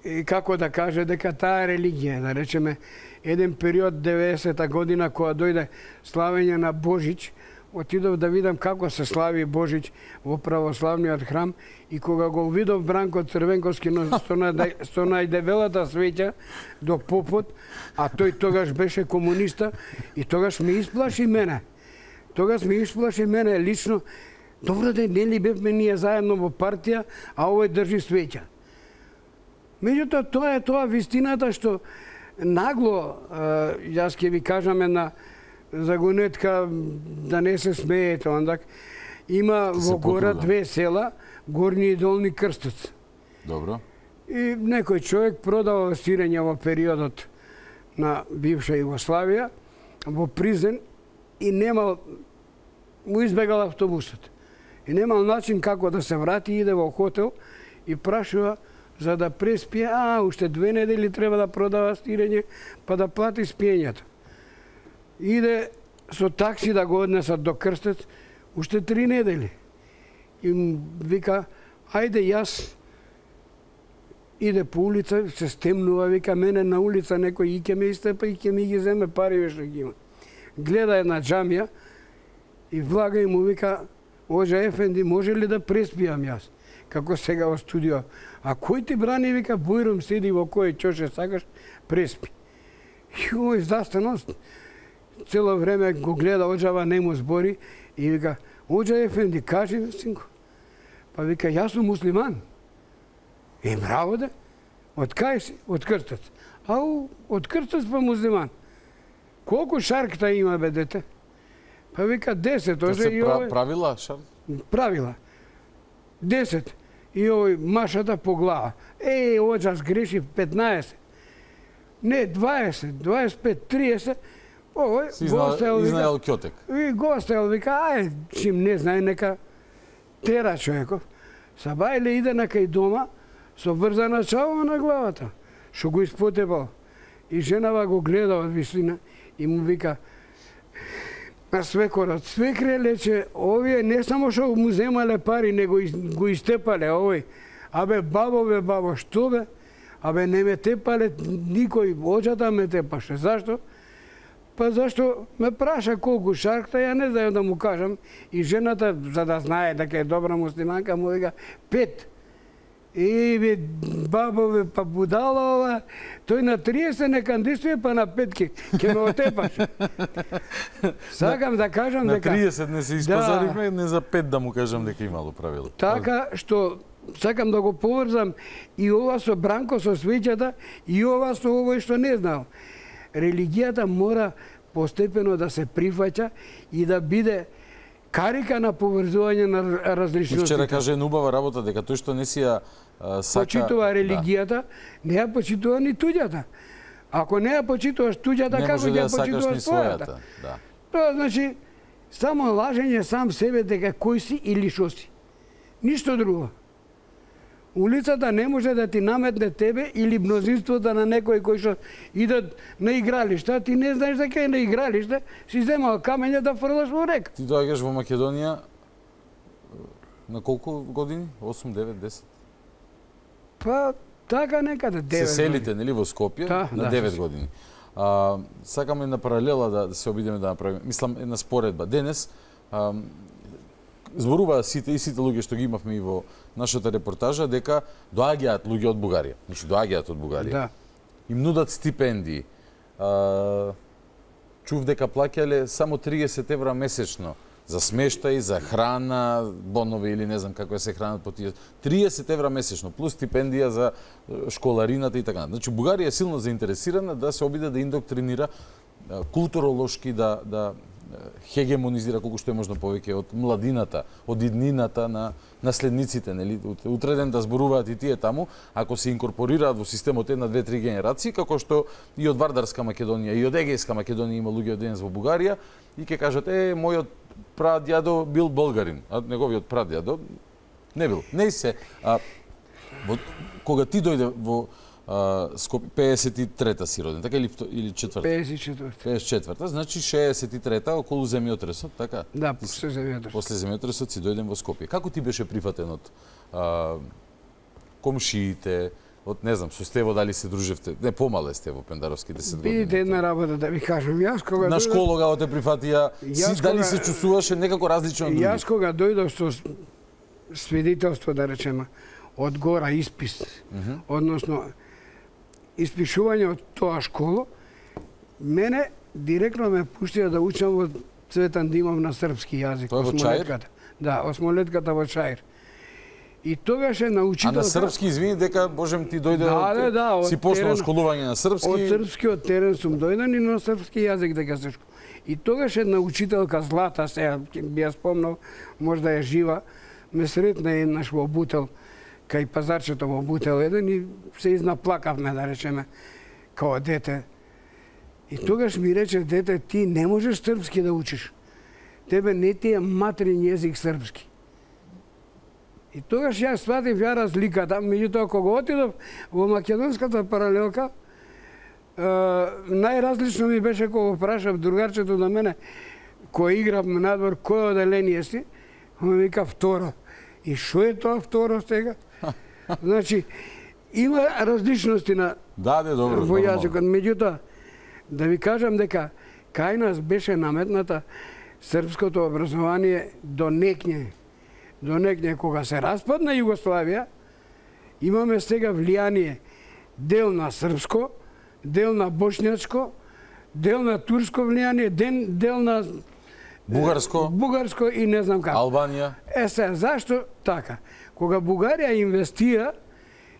и како да каже дека таа религија, да речеме, еден период 90-та година кога дојде славење на Божич, отидов да видам како се слави Божич во православниот храм и кога го видов Бранко Црвенковски со најдебелата свеќа до попот, а тој тогаш беше комуниста и тогаш ме исплаши мене. Лично. Добро да не ли бевме ние заедно во партија, а овој држи свеќа. Меѓутоа, тоа е тоа вистината што нагло, јас ќе ви кажам една загонетка, да не се смеете, ондак, има во гора две села, Горни и Долни Крстец. Добро. И некој човек продава сирење во периодот на бивша Југославија, во Призен, и немал, му избегал автобусот. И немал начин како да се врати, иде во хотел и прашува за да преспие, уште 2 недели треба да продава стирење, па да плати спиењето. Иде со такси да го однесат до Крстец, уште 3 недели. И вика, ајде јас, иде по улица, се стемнува, вика, мене на улица некој и ќе ме истепа и ќе ми ги земе пари што ги има. Гледа една џамија и влага и му вика, Оджа Ефенди, може ли да преспијам јас? Како сега во студио. А кој ти брани, вика, Бојром седи во кој чоше сакаш, преспи. И овој застано, цело време го гледа Оджава, не му збори и вика, Оджа Ефенди, кажи ми, синко. Па вика, јас сум муслиман. Браво да? Од кај си? Од Крстец. Ау, од Крстец па муслиман. Колку шаркта има, бе, дете? Па вика, 10. Тоа се правила, шарк? Правила. 10. И овој машата по глава. Оджа сгреши 15. Не, 20, 25, 30. Овој изнаел кјотек. И го оставил, вика, чим не знае, нека тера човеков. Сабајле иде на кај дома, со врзана чавова на главата, што го испотепал. И женава го гледа од висина и му вика на свекорот, свекре лече, овие не само што му земале пари, него го истепале овој. Абе, бабо, што бе? Абе, не ме тепале никој, Оджата ме тепаше. Зашто? Па зашто ме праша колку шаркта, ја не знаем да му кажам. И жената, за да знае дека е добра муслиманка, му вика 5. Бе, бабове, па будала ова, тој на 30 не кандидатуе, па на 5 ќе ме отепаше. Сакам да кажам дека... На 30 не се испазарихме, не за 5 да му кажам дека имало правило. Така што сакам да го поврзам и ова со Бранко, со свеќата, и ова со овој што не знал. Религијата мора постепено да се прифаќа и да биде карика на поврзување на различностите. Вчера каже една убава работа дека тој што не си ја сака... Почитува религијата, не ја почитува ни туѓата. Ако не ја почитуваш туѓата, како ќе ја почитуваш својата? Тоа значи само лажење сам себе дека кој си или што си. Ништо друго. Улицата не може да ти наметне тебе или мнозинството на некој кој што идат на игралишта, ти не знаеш дека е на игралиште, си земал камења да фрлаш во река. Ти доаѓаш во Македонија на колку години? 8, 9, 10? Па, така некаде 9 години. Се селите, нели, во Скопје на 9 години. Сакаме една паралела да се обидеме да направиме. Мислам, една споредба. Денес зборуваа сите луѓе што ги имавме и во нашата репортажа дека доаѓаат луѓе од Бугарија. Значи доаѓаат од Бугарија. Да. Им нудат стипендии. Чув дека плаќале само 30 евра месечно за смештај, за храна, бонови или не знам како се хранат по тие. 30 евра месечно плюс стипендија за школарината и така. Значи Бугарија е силно заинтересирана да се обиде да индоктринира културолошки, да хегемонизира колку што е можно повеќе од младината, од иднината на наследниците, нели? Утре ден да зборуваат и тие таму, ако се инкорпорираат во системот една, две, три генерации, како што и од Вардарска Македонија и од Егејска Македонија има луѓе од денес во Бугарија и ќе кажат мојот прадјадо бил болгарин, а неговиот прадјадо не бил. Не се. Кога ти дојде во Скопје, 53-та си роден, така или 4-та? 54-та, значи 63-та околу земјотресот, така? Да, после земјотресот. После земјотресот си дојден во Скопје. Како ти беше прифатен од комшиите, од, не знам, со Стево дали се дружевте? Не, помале сте во Пендаровски 10 години. Видите една работа да ви кажам. Јас кога на школа те прифатија, дали се чувствуваше некако различно од други? Јас кога дојдов со свидетелство, да речеме, од гора испис, односно испишување од тоа школо, мене директно ме пуштија да учам во Цветан Димов на српски јазик. Тоа е во Чаир? Да, осмолетката во Чаир. И тогаш е научителка... А на српски, извини, дека, Божем, ти дојде си почнал школување на српски? Од српскиот терен сум дојден и на српски јазик дека се школувам. И тогаш една учителка Злата, сега би ја спомнал, можда е жива, ме сретна еднаш во Бутел, кај пазарчето во Бутел еден и се изнаплакавме, да речеме, као дете. И тогаш ми рече, дете, ти не можеш српски да учиш. Тебе не ти е материн јазик српски. И тогаш ја сватив ја разликата, меѓутоа кога отидов во македонската паралелка, најразлично ми беше кога прашав другарчето на мене, кој играв надвор, кој оделение си, ми вика второ. И шо е тоа второ сега? Значи, има различности на во јазикот. Меѓутоа, да ви кажам дека кај нас беше наметната српското образование до некне кога се распадна Југославија, имаме сега влијание дел на српско, дел на бошњачко, дел на турско влијание, дел на бугарско и не знам како. Албанија. Сега, зашто така? Кога Бугарија инвестира,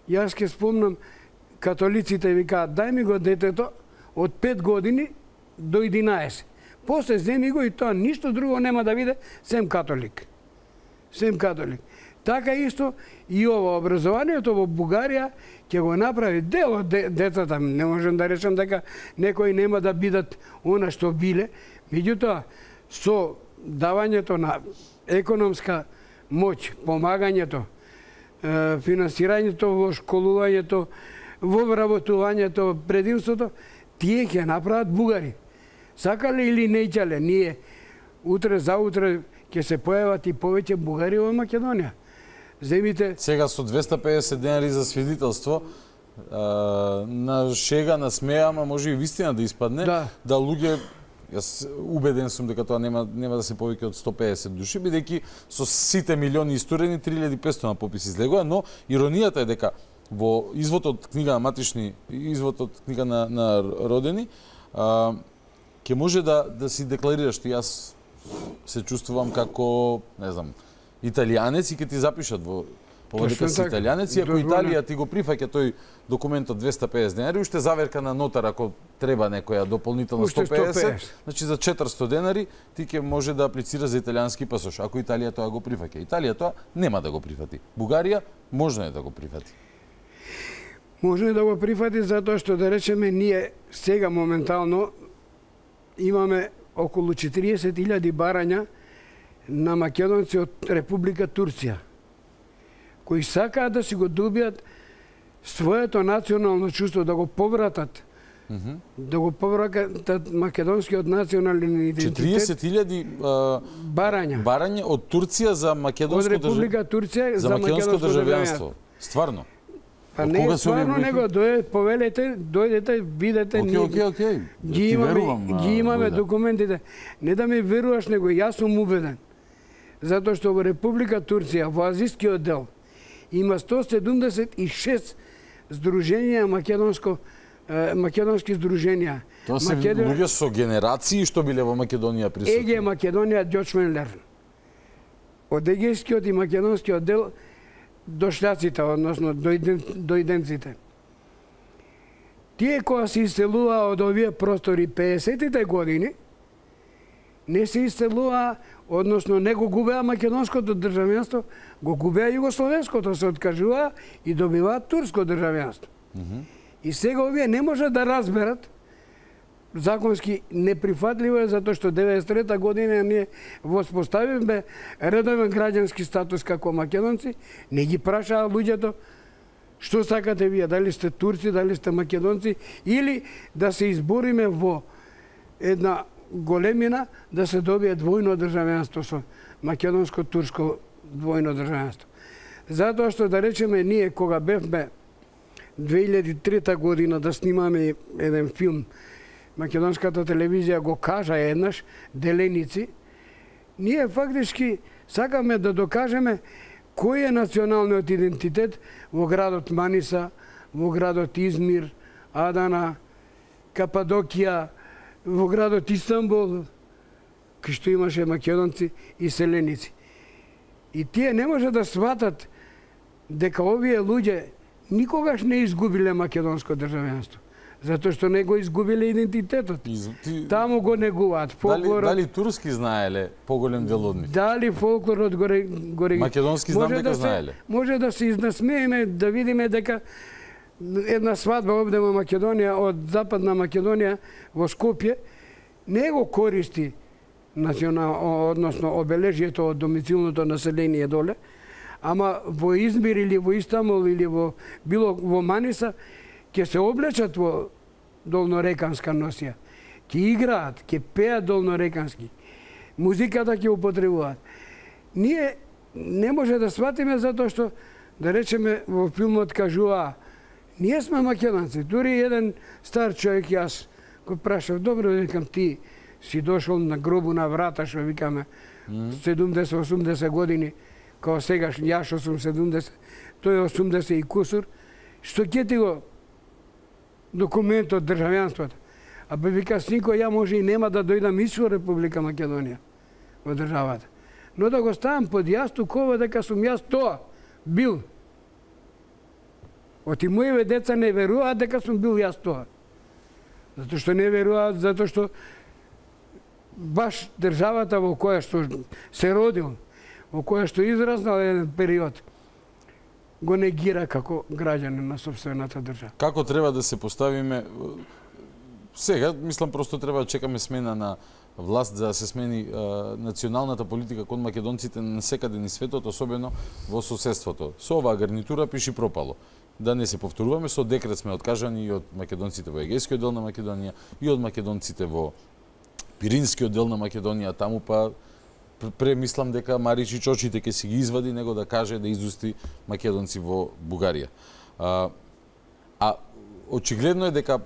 јас ке спомнам, католиците викаат, дај ми го детето од 5 години до 11. После земи го и тоа ништо друго нема да биде, сем католик. Сем католик. Така исто и ова образованието во Бугарија ќе го направи дел од децата. Не можам да речам дека некои нема да бидат она што биле. Меѓутоа, со давањето на економска моќ, помагањето, финансирањето во школувањето, во вработувањето, предимството, тие ќе направат бугари. Сакале или не ќале, ние утре заутре ќе се појават и повеќе бугари во Македонија. Земите... Сега со 250 денари за свидетелство, на шега, на смеја, ама може и вистина да испадне, да луѓе, јас убеден сум дека тоа нема да се повеќе од 150 души, бидејќи со сите милиони исторени 3500 на попис излегува, но иронијата е дека во извод од книга на матични, извод од книга на родени, ќе може да си декларираш, јас се чувствувам како, не знам, италијанец и ќе ти запишат во ова дека си италијанец, и ако Италија ти го прифаќа тој документ од 250 денари, уште заверка на нотар ако треба некоја дополнително 150, значи за 400 денари ти ќе може да аплицира за италијански пасош, ако Италија тоа го прифаќа. Италија тоа нема да го прифати. Бугарија можно е да го прифати. Можно е да го прифати затоа што, да речеме, ние сега моментално имаме околу 40.000 барања на македонци од Република Турција, кои сакаат да си го добијат своето национално чувство, да го повратат, да го повратат македонскиот национален идентитет. 40.000 барања од Турција за македонско од Република Турција за македонско државјанство. Стварно? Па не е стварно, него повелете, дојдете, видете, ги имаме документите. Не да ми веруваш, него јас сум убеден. Затоа што во Република Турција, во азискиот дел, има 176 здруженија македонски здруженија. Тоа се луѓе со генерации што биле во Македонија присутни. Еге Македонија Ѓочменлер. Од егејскиот и македонскиот дел дошляците, односно дојденците. Тие кои се иселуваа од овие простори 50-тите години, не се иселуваа, односно не го губеа македонското државјанство, го губеа југословенското, се откажуваа и добиваат турско државјанство. И сега овие не можат да разберат, законски неприфатливо е, затоа што 93-та година ние воспоставивме редовен граѓански статус како македонци, не ги прашаа луѓето што сакате вие, дали сте турци, дали сте македонци, или да се избориме во една големина да се добие двојно државјанство со македонско-турско двојно државјанство. Затоа што, да речеме, ние кога бевме 2003 година да снимаме еден филм, македонската телевизија го кажа еднаш, Деленици, ние фактички сакаме да докажеме кој е националниот идентитет во градот Маниса, во градот Измир, Адана, Кападокија, во градот Истанбул, кај што имаше македонци и селеници. И тие не може да сватат дека овие луѓе никогаш не изгубиле македонско државјанство. Затоа што не го изгубиле идентитетот. Таму го негуваат. Фолклорот... Дали турски знаеле поголем дел од нив? Дали фолклорот го македонски знам дека знаеле. Може да се изнасмееме, да видиме дека една свадба овде во Македонија, од Западна Македонија во Скопје, не го користи односно обележјето од домицилното население доле, ама во Измир или во Истанбул или во Маниса ќе се облечат во долнореканска носија. Ќе играат, ќе пеат долнорекански. Музиката ќе употребуваат. Ние не може да сватиме затоа што, да речеме, во филмот кажува, ние сме македонци. Дури еден стар човек, јас го прашав, добро, викам, ти си дошол на гробу на врата, што викаме, 70-80 години, као сегаш, јас што сум 70, тој 80 и кусур, што ќе ти го документ од државјанството? А бе вика, синко, ја може и нема да дојдам из во Република Македонија, во државата. Но да го ставам под јастук ова дека сум јас тоа бил. Оти моје деца не веруваат дека сум бил јас тоа. Затоа што не веруваат, затоа што баш државата во која што се родил, во која што израснал еден период, го негира како граѓанин на сопствената држава. Како треба да се поставиме? Сега, мислам, просто треба да чекаме смена на власт за да се смени националната политика кон македонците на секаде низ светот, особено во соседството. Со оваа гарнитура пиши пропало. Да не се повторуваме, со декрет сме откажани и од македонците во Егејскиот дел на Македонија, и од македонците во Пиринскиот дел на Македонија, таму па премислам дека Маричич очите ќе си ги извади, него да каже да изусти македонци во Бугарија. Очигледно е дека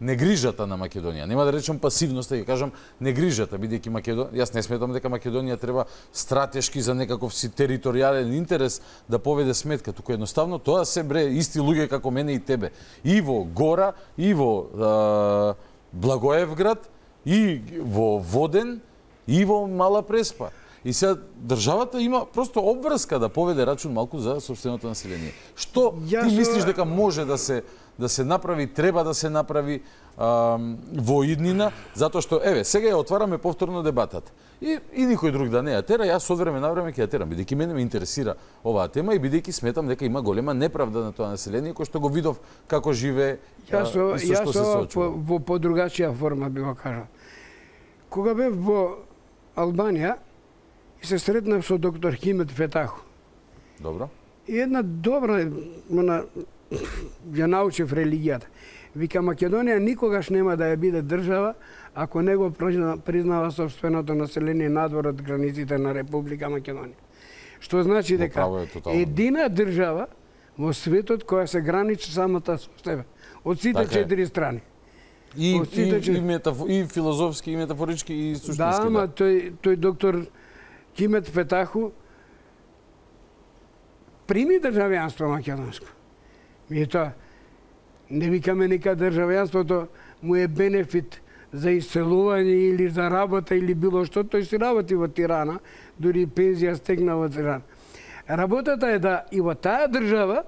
негрижата на Македонија, нема да речам пасивноста, ќе кажам негрижата, бидејќи јас не сметам дека Македонија треба стратешки за некаков си територијален интерес да поведе сметка, туку едноставно тоа се исти луѓе како мене и тебе. И во Гора, и во Благоевград, и во Воден, и во Мала Преспа. И сега државата има просто обврска да поведе рачун малку за сопственото население. Што ти мислиш дека може да се направи, треба да се направи во иднина, затоа што, сега ја отвараме повторно дебатата. И никој друг да не ја тера, јас од време на време ќе ја терам, бидејќи мене ме интересира оваа тема и бидејќи сметам дека има голема неправда на тоа население, кој што го видов како живее и со што се соочува. Во подругачија форма би го кажал. Кога бев во Албанија, и се сретнав со доктор Химет Фетаху. Добро. И една добра, ја научив религијата. Вика, Македонија никогаш нема да ја биде држава ако не го признава собственото население надвор од границите на Република Македонија. Што значи дека едина држава во светот која се граничи самата со себе. Од сите 4 страни. И филозофски, и метафорички, и суштински. Да, ама тој доктор Химет Фетаху прими државјанство македонско. Тоа не викаме нека државјанството му е бенефит за иселување или за работа или било што, тој си работи во Тирана, дури пензија стегна во Тирана. Работата е да и во таа држава,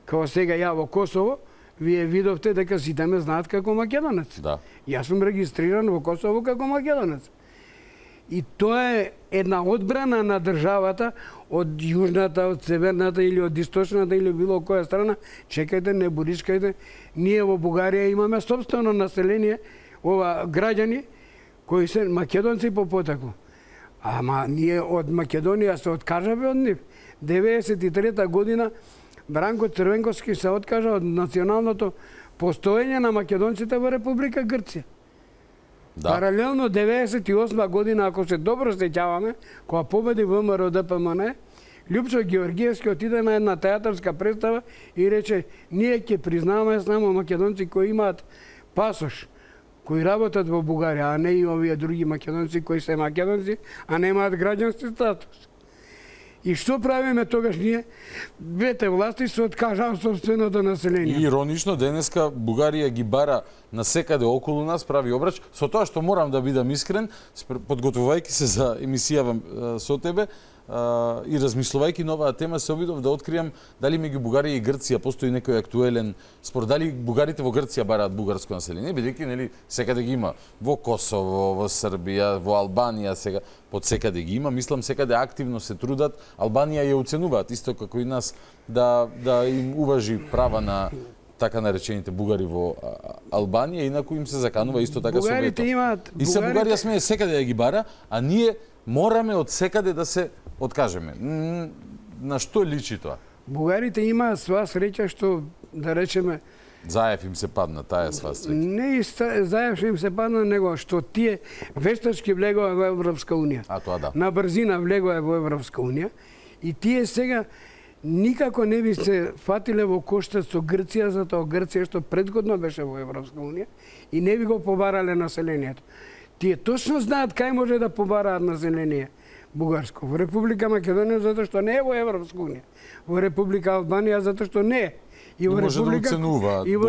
како сега ја во Косово, вие видовте дека сите ме знаат како македонец. Да. Јас сум регистриран во Косово како македонец. И тоа е една одбрана на државата од јужната, од северната или од источната или било која страна. Чекајте, не буричкајте. Ние во Бугарија имаме собствено население, граѓани кои се македонци по потекло. Ама ние од Македонија се откажаве од нив. 93-та година Бранко Црвенковски се откажа од националното постоење на македонците во Република Грција. Да. Паралелно 98 година, ако се добро сеќаваме, кога победи ВМРО ДПМН, Лјупчо Георгиевски отиде на една театарска представа и рече: ние ќе признаваме само македонци кои имаат пасош, кои работат во Бугарија, а не и овие други македонци кои се македонци, а немаат граѓански статус. И што правиме тогаш ние? Двете власти се откажаа собственото население. И иронично, денеска Бугарија ги бара на секаде околу нас, прави обрач, со тоа што морам да бидам искрен, подготвувајќи се за емисија со тебе, и размислувајќи на оваа тема, се обидов да откријам дали меѓу Бугарија и Грција постои некој актуелен спор, дали бугарите во Грција бараат бугарско население, бидејќи нели секаде ги има во Косово, во Србија, во Албанија, сега под секаде ги има, мислам секаде активно се трудат, Албанија ја оценуваат исто како и нас да им уважи права на така наречените бугари во Албанија, инаку им се заканува исто така со вето. И се Бугарија смее секаде да ги бара, а ние мораме од секаде да се откажеме. На што личи тоа? Бугарите имаат сва среќа што, да речеме, Заев им се падна, таа е сва среќа. Не Заев им се падна, него што тие вештачки влегоа во Европска унија. А тоа да. На брзина влегоа во Европска унија и тие сега никако не би се фатиле во коштаc со Грција, затоа Грција што предходно беше во Европска унија и не би го побарале населението. Тие точно знаат кај може да побараат население бугарско. Во Република Македонија затоа што не е во Европска унија. Во Република Албанија затоа што не е. И во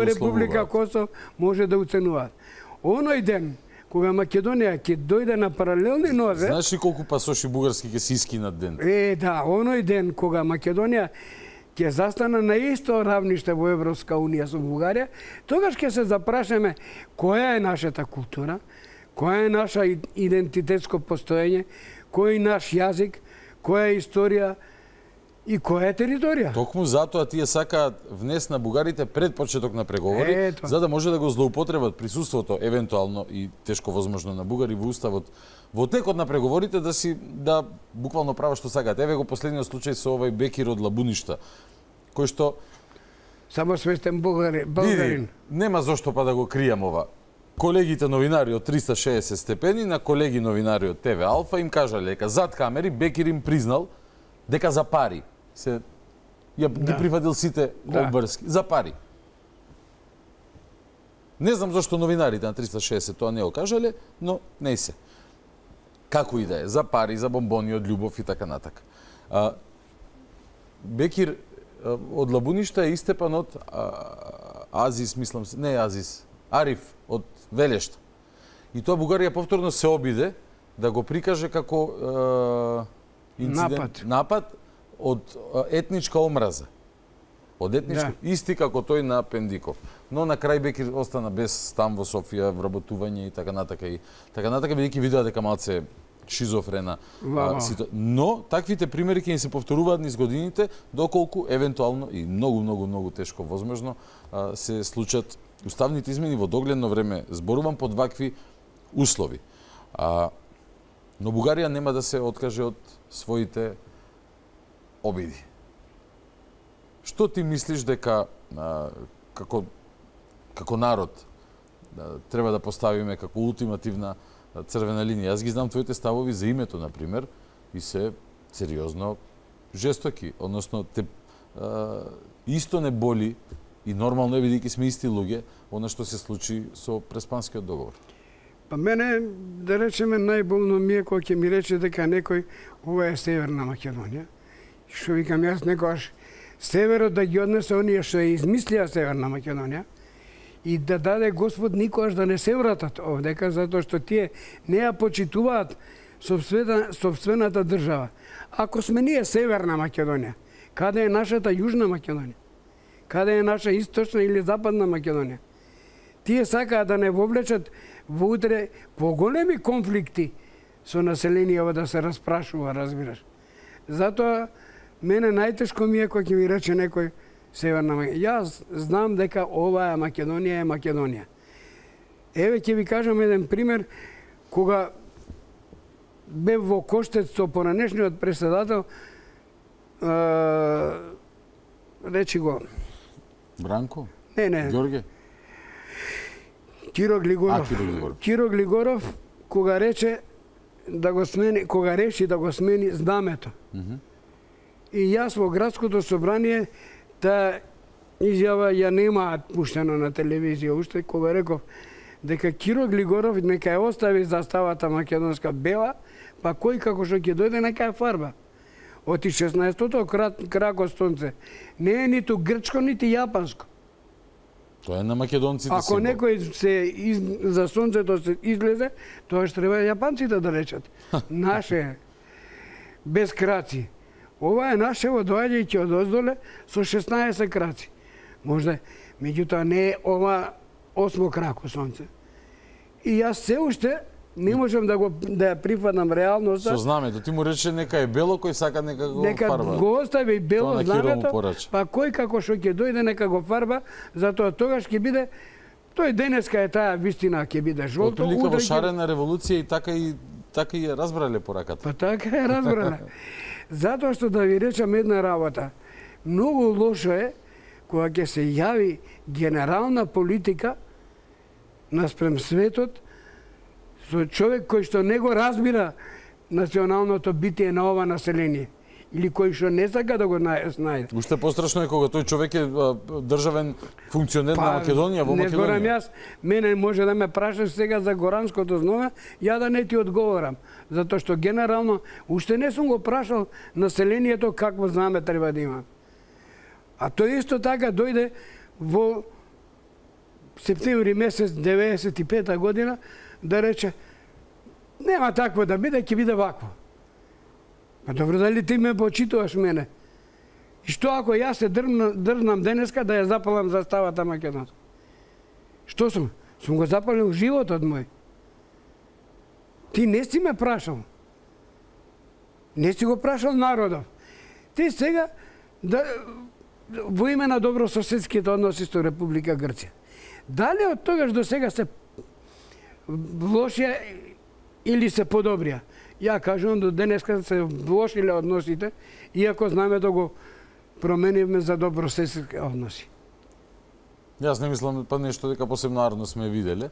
Република Косово може да уценуваат. Оној ден кога Македонија ќе дојде на паралелни нозе... Знаеш ли колку пасоши бугарски ќе се искинат ден? Да, оној ден кога Македонија ќе застана на исто равниште во Европска унија со Бугарија, тогаш ќе се запрашаме која е нашата култура, која е наша идентитетско постоење, кој е наш јазик, која е историја и која е територија. Токму затоа тие сакаат внес на бугарите пред почеток на преговори, за да може да го злоупотребат присуството евентуално и тешко возможно на бугари во уставот во текот на преговорите да буквално прават што сакаат. Еве го последниот случај со овој Бекир од Лабуништа, кој што само свестен бугарин. Нема зошто па да го кријам ова. Колегите новинари од 360 степени на колеги новинари од ТВ Алфа им кажале дека зад камери Бекир им признал дека за пари ги прифатил сите обврски. За пари. Не знам зашто новинарите на 360 тоа не го кажале, но не се. Како и да е, за пари, за бомбони од љубов и така натака. Бекир од Лабуништа е истепан од Азис, мислам се, не Азис, Ариф од Велешта. И тоа Бугарија повторно се обиде да го прикаже како напад од етничка омраза. Од етничка, исти како тој на Пендиков. Но на крај Бекир остана без стан во Софија, вработување и така натака. И така натака, бидејќи видеа дека малце шизофрена ситуација. Но таквите примери ќе ни се повторуваат низ годините, доколку евентуално и многу тешко возможно се случат уставните измени во догледно време. Зборувам под вакви услови. Но Бугарија нема да се откаже од своите обиди. Што ти мислиш дека како народ треба да поставиме како ултимативна црвена линија? Јас ги знам твоите ставови за името, например, и се сериозно жестоки. Односно, исто не боли и нормално е, бидејќи сме исти луѓе, она што се случи со Преспанскиот договор. Па мене, да речеме, најболно ми е кога ќе ми рече дека некој ова е Северна Македонија. Што викам јас некојаш северот да ги однесе оние што ја измислија Северна Македонија и да даде Господ никогаш да не се вратат овдека, затоа што тие не ја почитуваат собствената држава. Ако сме ние Северна Македонија, каде е нашата Јужна Македонија? Каде е наша Источна или Западна Македонија? Тие сакаат да не вовлечат во утре поголеми конфликти со населението да се распрашува, разбираш. Затоа мене најтешко ми е кога ќе ми рече некој Северна Македонија. Јас знам дека оваа Македонија е Македонија. Еве ќе ви кажам еден пример кога бев во Коштец со поранешниот председател, речи го Бранко? Не. Ѓорѓе? Киро Глигоров. Киро Глигоров кога рече да го смени, кога реши да го смени знамето. И јас во градското собрание таа изјава ја немаат пуштено на телевизија уште, кога реков дека Киро Глигоров нека ја остави заставата македонска бела, па кој како што ќе дојде нека ја фарба. Оти 16-тото крако сонце не е ниту грчко, нити јапанско. Тоа е на македонците Ако символ. некој за сонцето се излезе, тоа што треба јапанците да речат. Наше без краци. Ова е нашево доаѓајќи од оздоле со 16 краци. Можда, меѓутоа не е ова 8 крако сонце. И јас се уште не можам да ја прифатам реалноста. Со знамето, ти му рече нека е бело, кој сака нека го фарба. Нека го остави бело знамето, па кој како што ќе дојде нека го фарба, затоа тогаш ќе биде, тој денеска е таа вистина, ќе биде жолто. Од прилика во шарена револуција и така и ја разбрале пораката. Па така ја разбрале. Затоа што да ви речам една работа. Многу лошо е кога ќе се јави генерална политика наспрем светот со човек кој што не го разбира националното битие на ова население или кој што не сака да го знајде. Уште пострашно е кога тој човек е државен функционер на Македонија во Македонија. Не зборам јас, мене може да ме прашаш сега за горанското знаме, ја да не ти одговорам, затоа што генерално уште не сум го прашал населението какво знаме треба да има. А тој исто така дојде во септември месец 95 година да рече нема такво да биде, ќе биде вакво. Па добро, дали ти ме почитуваш мене? И што ако јас се дрзнам денеска да ја запалам заставата македонска? Што сум? Сум го запалил животот мој. Ти не си ме прашал. Не си го прашал народов. Ти сега во име на добрососедските односи со Република Грција. Дали од тогаш до сега се влошија или се подобрија? Ја кажувам до денеска се влошиле односите, иако знаме да го променивме за добрососедски односи. Јас не мислам па нешто дека посебно арно сме виделе.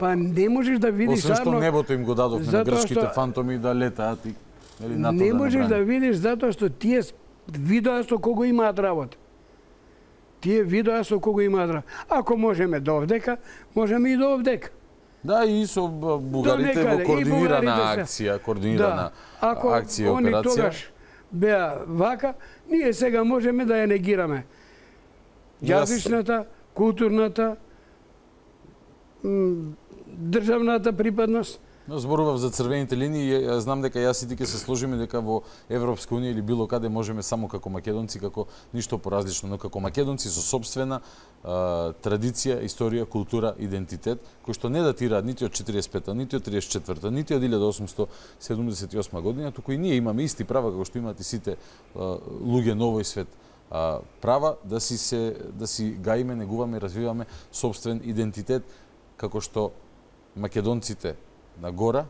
Па не можеш да видиш освен што небото им го дадовме на грчките фантоми да летаат и не можеш да видиш затоа што тие видоа со кого имаат работа. Тие видоа со кого имаат работа. Ако можеме до овдека, можеме и до овдека. Да, и со бугарите во координирана акција, акција и операција. Ако они тогаш беа вака, ние сега можеме да ја негираме. Јазичната, културната, државната припадност. Зборував за црвените линии, знам дека јас и ти ќе се сложиме дека во Европска унија или било каде можеме само како македонци, како ништо поразлично, но како македонци со собствена традиција, историја, култура, идентитет, кој што не датираат нити од 45-та, нити од 34-та, нити од 1878 година, туку и ние имаме исти права како што имаат и сите луѓе на овој свет. Права да си гаиме, негуваме, развиваме собствен идентитет, како што македонците на гора,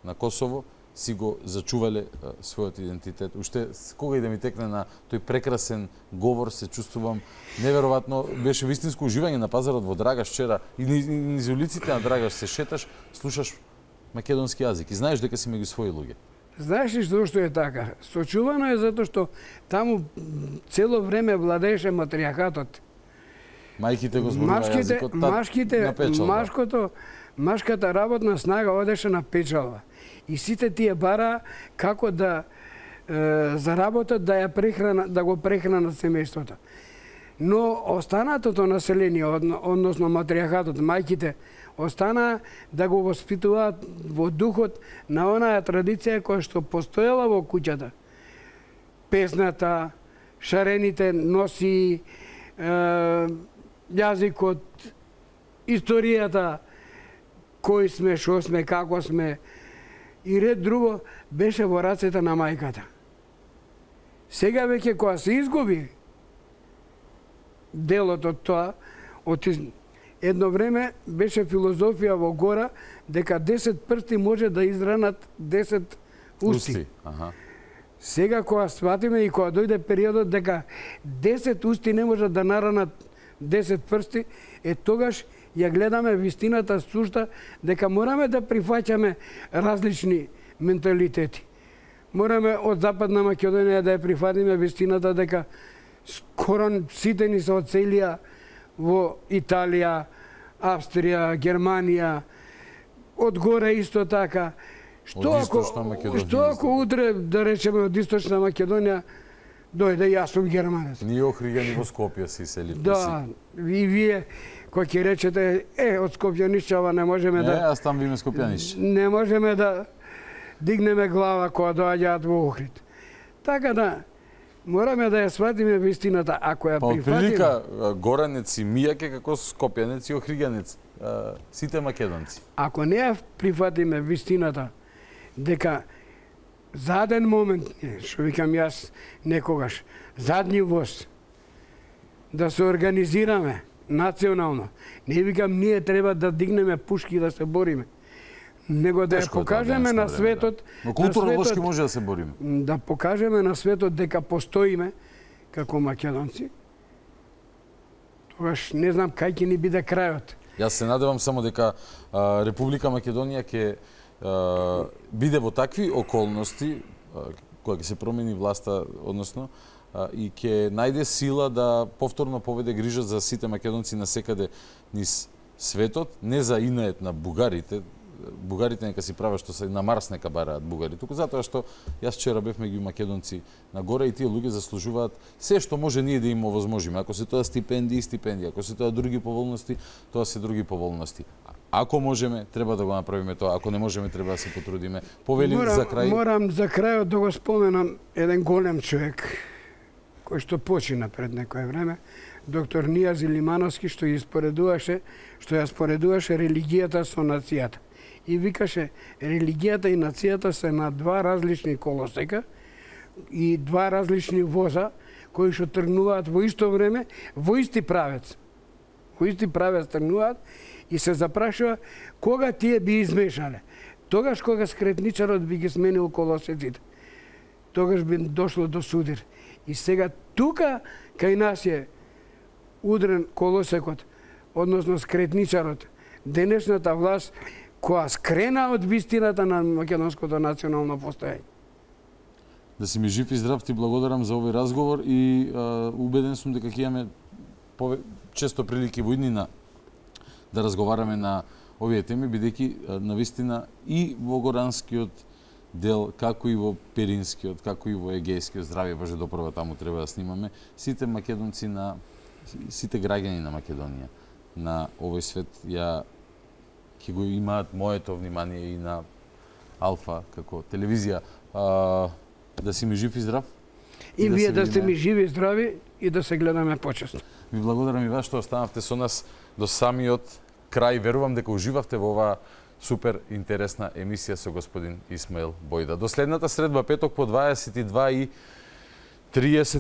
на Косово, си го зачувале својот идентитет. Уште кога и да ми текне на тој прекрасен говор, се чувствувам неверојатно, беше вистинско уживање на пазарот во Драгаш вчера и низ улиците на Драгаш се шеташ, слушаш македонски јазик и знаеш дека си меѓу своји луѓе. Знаеш ли што е така? Сочувано е затоа што таму цело време владееше матриархатот. Мајките го зборува јазикот на печалба. Машката работна снага одеше на печалба. И сите тие бара како да заработат да го прехранат семејството. Но останатото население, односно матриархатот, мајките, остана да го воспитуваат во духот на онаа традиција која што постоела во куќата. Песната, шарените носи, јазикот, историјата, кои сме, шо сме, како сме, и ред друго беше во рацете на мајката. Сега веќе кога се изгуби делот од тоа, едно време беше филозофија во гора дека 10 прсти може да изранат 10 усти. Сега кога сватиме и кога дојде периодот дека 10 усти не може да наранат 10 прсти, тогаш ја гледаме вистината сушта дека мораме да прифаќаме различни менталитети. Мораме од Западна Македонија да ја прифатиме вистината дека скоро сите ни се одселија во Италија, Австрија, Германија, од горе исто така. Што ако утре, да речеме, од Источна Македонија дојде, јас сум германец. Ние охригани во Скопје си селите. Да, и вие кој ќе речете, од Скопјанишче ова не можеме да... Не, аз там виме Скопјанишче. Не можеме да дигнеме глава кога доаѓаат во Охрид. Така да, мораме да ја сватиме вистината, ако ја прифатиме... Па прилика горанец и мијак е како Скопјанец и охриганец, сите македонци. Ако не ја прифатиме вистината, дека заден момент, што викам јас некогаш, задни воз, да се организираме национално. Не викам ние треба да дигнеме пушки и да се бориме. него да ја покажеме на светот. Но културолошки може да се бориме. Да покажеме на светот дека постоиме како македонци. Тогаш не знам кај ќе ни биде крајот. Јас се надевам само дека Република Македонија ќе биде во такви околности кога ќе се промени власта, односно и ќе најде сила да повторно поведе грижа за сите македонци насекаде низ светот, не за инает на бугарите. Бугарите нека си прават што се на Марс нека бараат бугари. Туку затоа што јас вчера бев меѓу македонци на горе и тие луѓе заслужуваат се што може ние да им овозможиме. Ако се тоа стипендии, ако се тоа други поволности, тоа се други поволности. Ако можеме, треба да го направиме тоа. Ако не можеме, треба да се потрудиме. Повели за крај. Морам за крајот да го споменам еден голем човек кој што почина пред некое време, доктор Нијази Лимановски, што ја споредуваше религијата со нацијата. И викаше, религијата и нацијата се на два различни колосека и два различни воза кои што тргнуваат во исто време, во исти правец. Во исти правец тргнуваат и се запрашува кога тие би измешале. Тогаш кога скретничарот би ги сменил колосеците. Тогаш би дошло до судир. И сега тука кај нас е удрен колосекот, односно скретничарот. Денешната власт која скрена од вистината на македонското национално постоење. Да си ми жив и здрав, ти благодарам за овој разговор и убеден сум дека ќе имаме често прилики во иднина да разговараме на овие теми, бидејќи навистина и во Горанскиот дел, како и во Перинскиот, како и во Егејскиот, здравје Боже допрва, таму треба да снимаме, сите македонци сите граѓани на Македонија, на овој свет, ќе го имаат моето внимание и на Алфа како телевизија. Да си ми жив и здрав. И вие да сте ми живи и здрави и да се гледаме почесно. Ви благодарам и вас што останавте со нас до самиот крај. Верувам дека уживавте во оваа супер интересна емисија со господин Исмаил Бојда. До следната средба, петок по 22:30,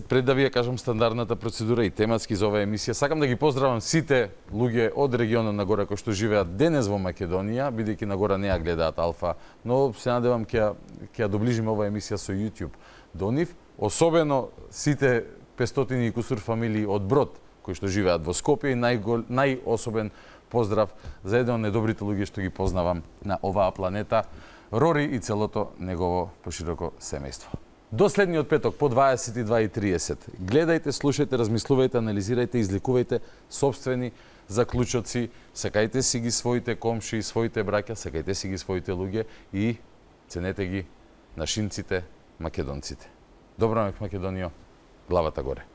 пред да ви ја кажам стандардната процедура и тематски за оваа емисија. Сакам да ги поздравам сите луѓе од регионот на горе кои што живеат денес во Македонија, бидејќи на гора не ја гледаат Алфа, но се надевам ќе ја доближиме оваа емисија со YouTube до нив. Особено сите 500 и кусур фамилии од Брод кои што живеат во Скопје и најособен поздрав за еден од недобрите луѓе што ги познавам на оваа планета, Рори и целото негово пошироко семејство. До следниот петок по 22:30. Гледајте, слушајте, размислувајте, анализирајте, изликувајте собствени заклучоци, сакајте си ги своите комши, своите браќа, сакајте си ги своите луѓе и ценете ги нашинците, македонците. Добро ме Македонијо, главата горе.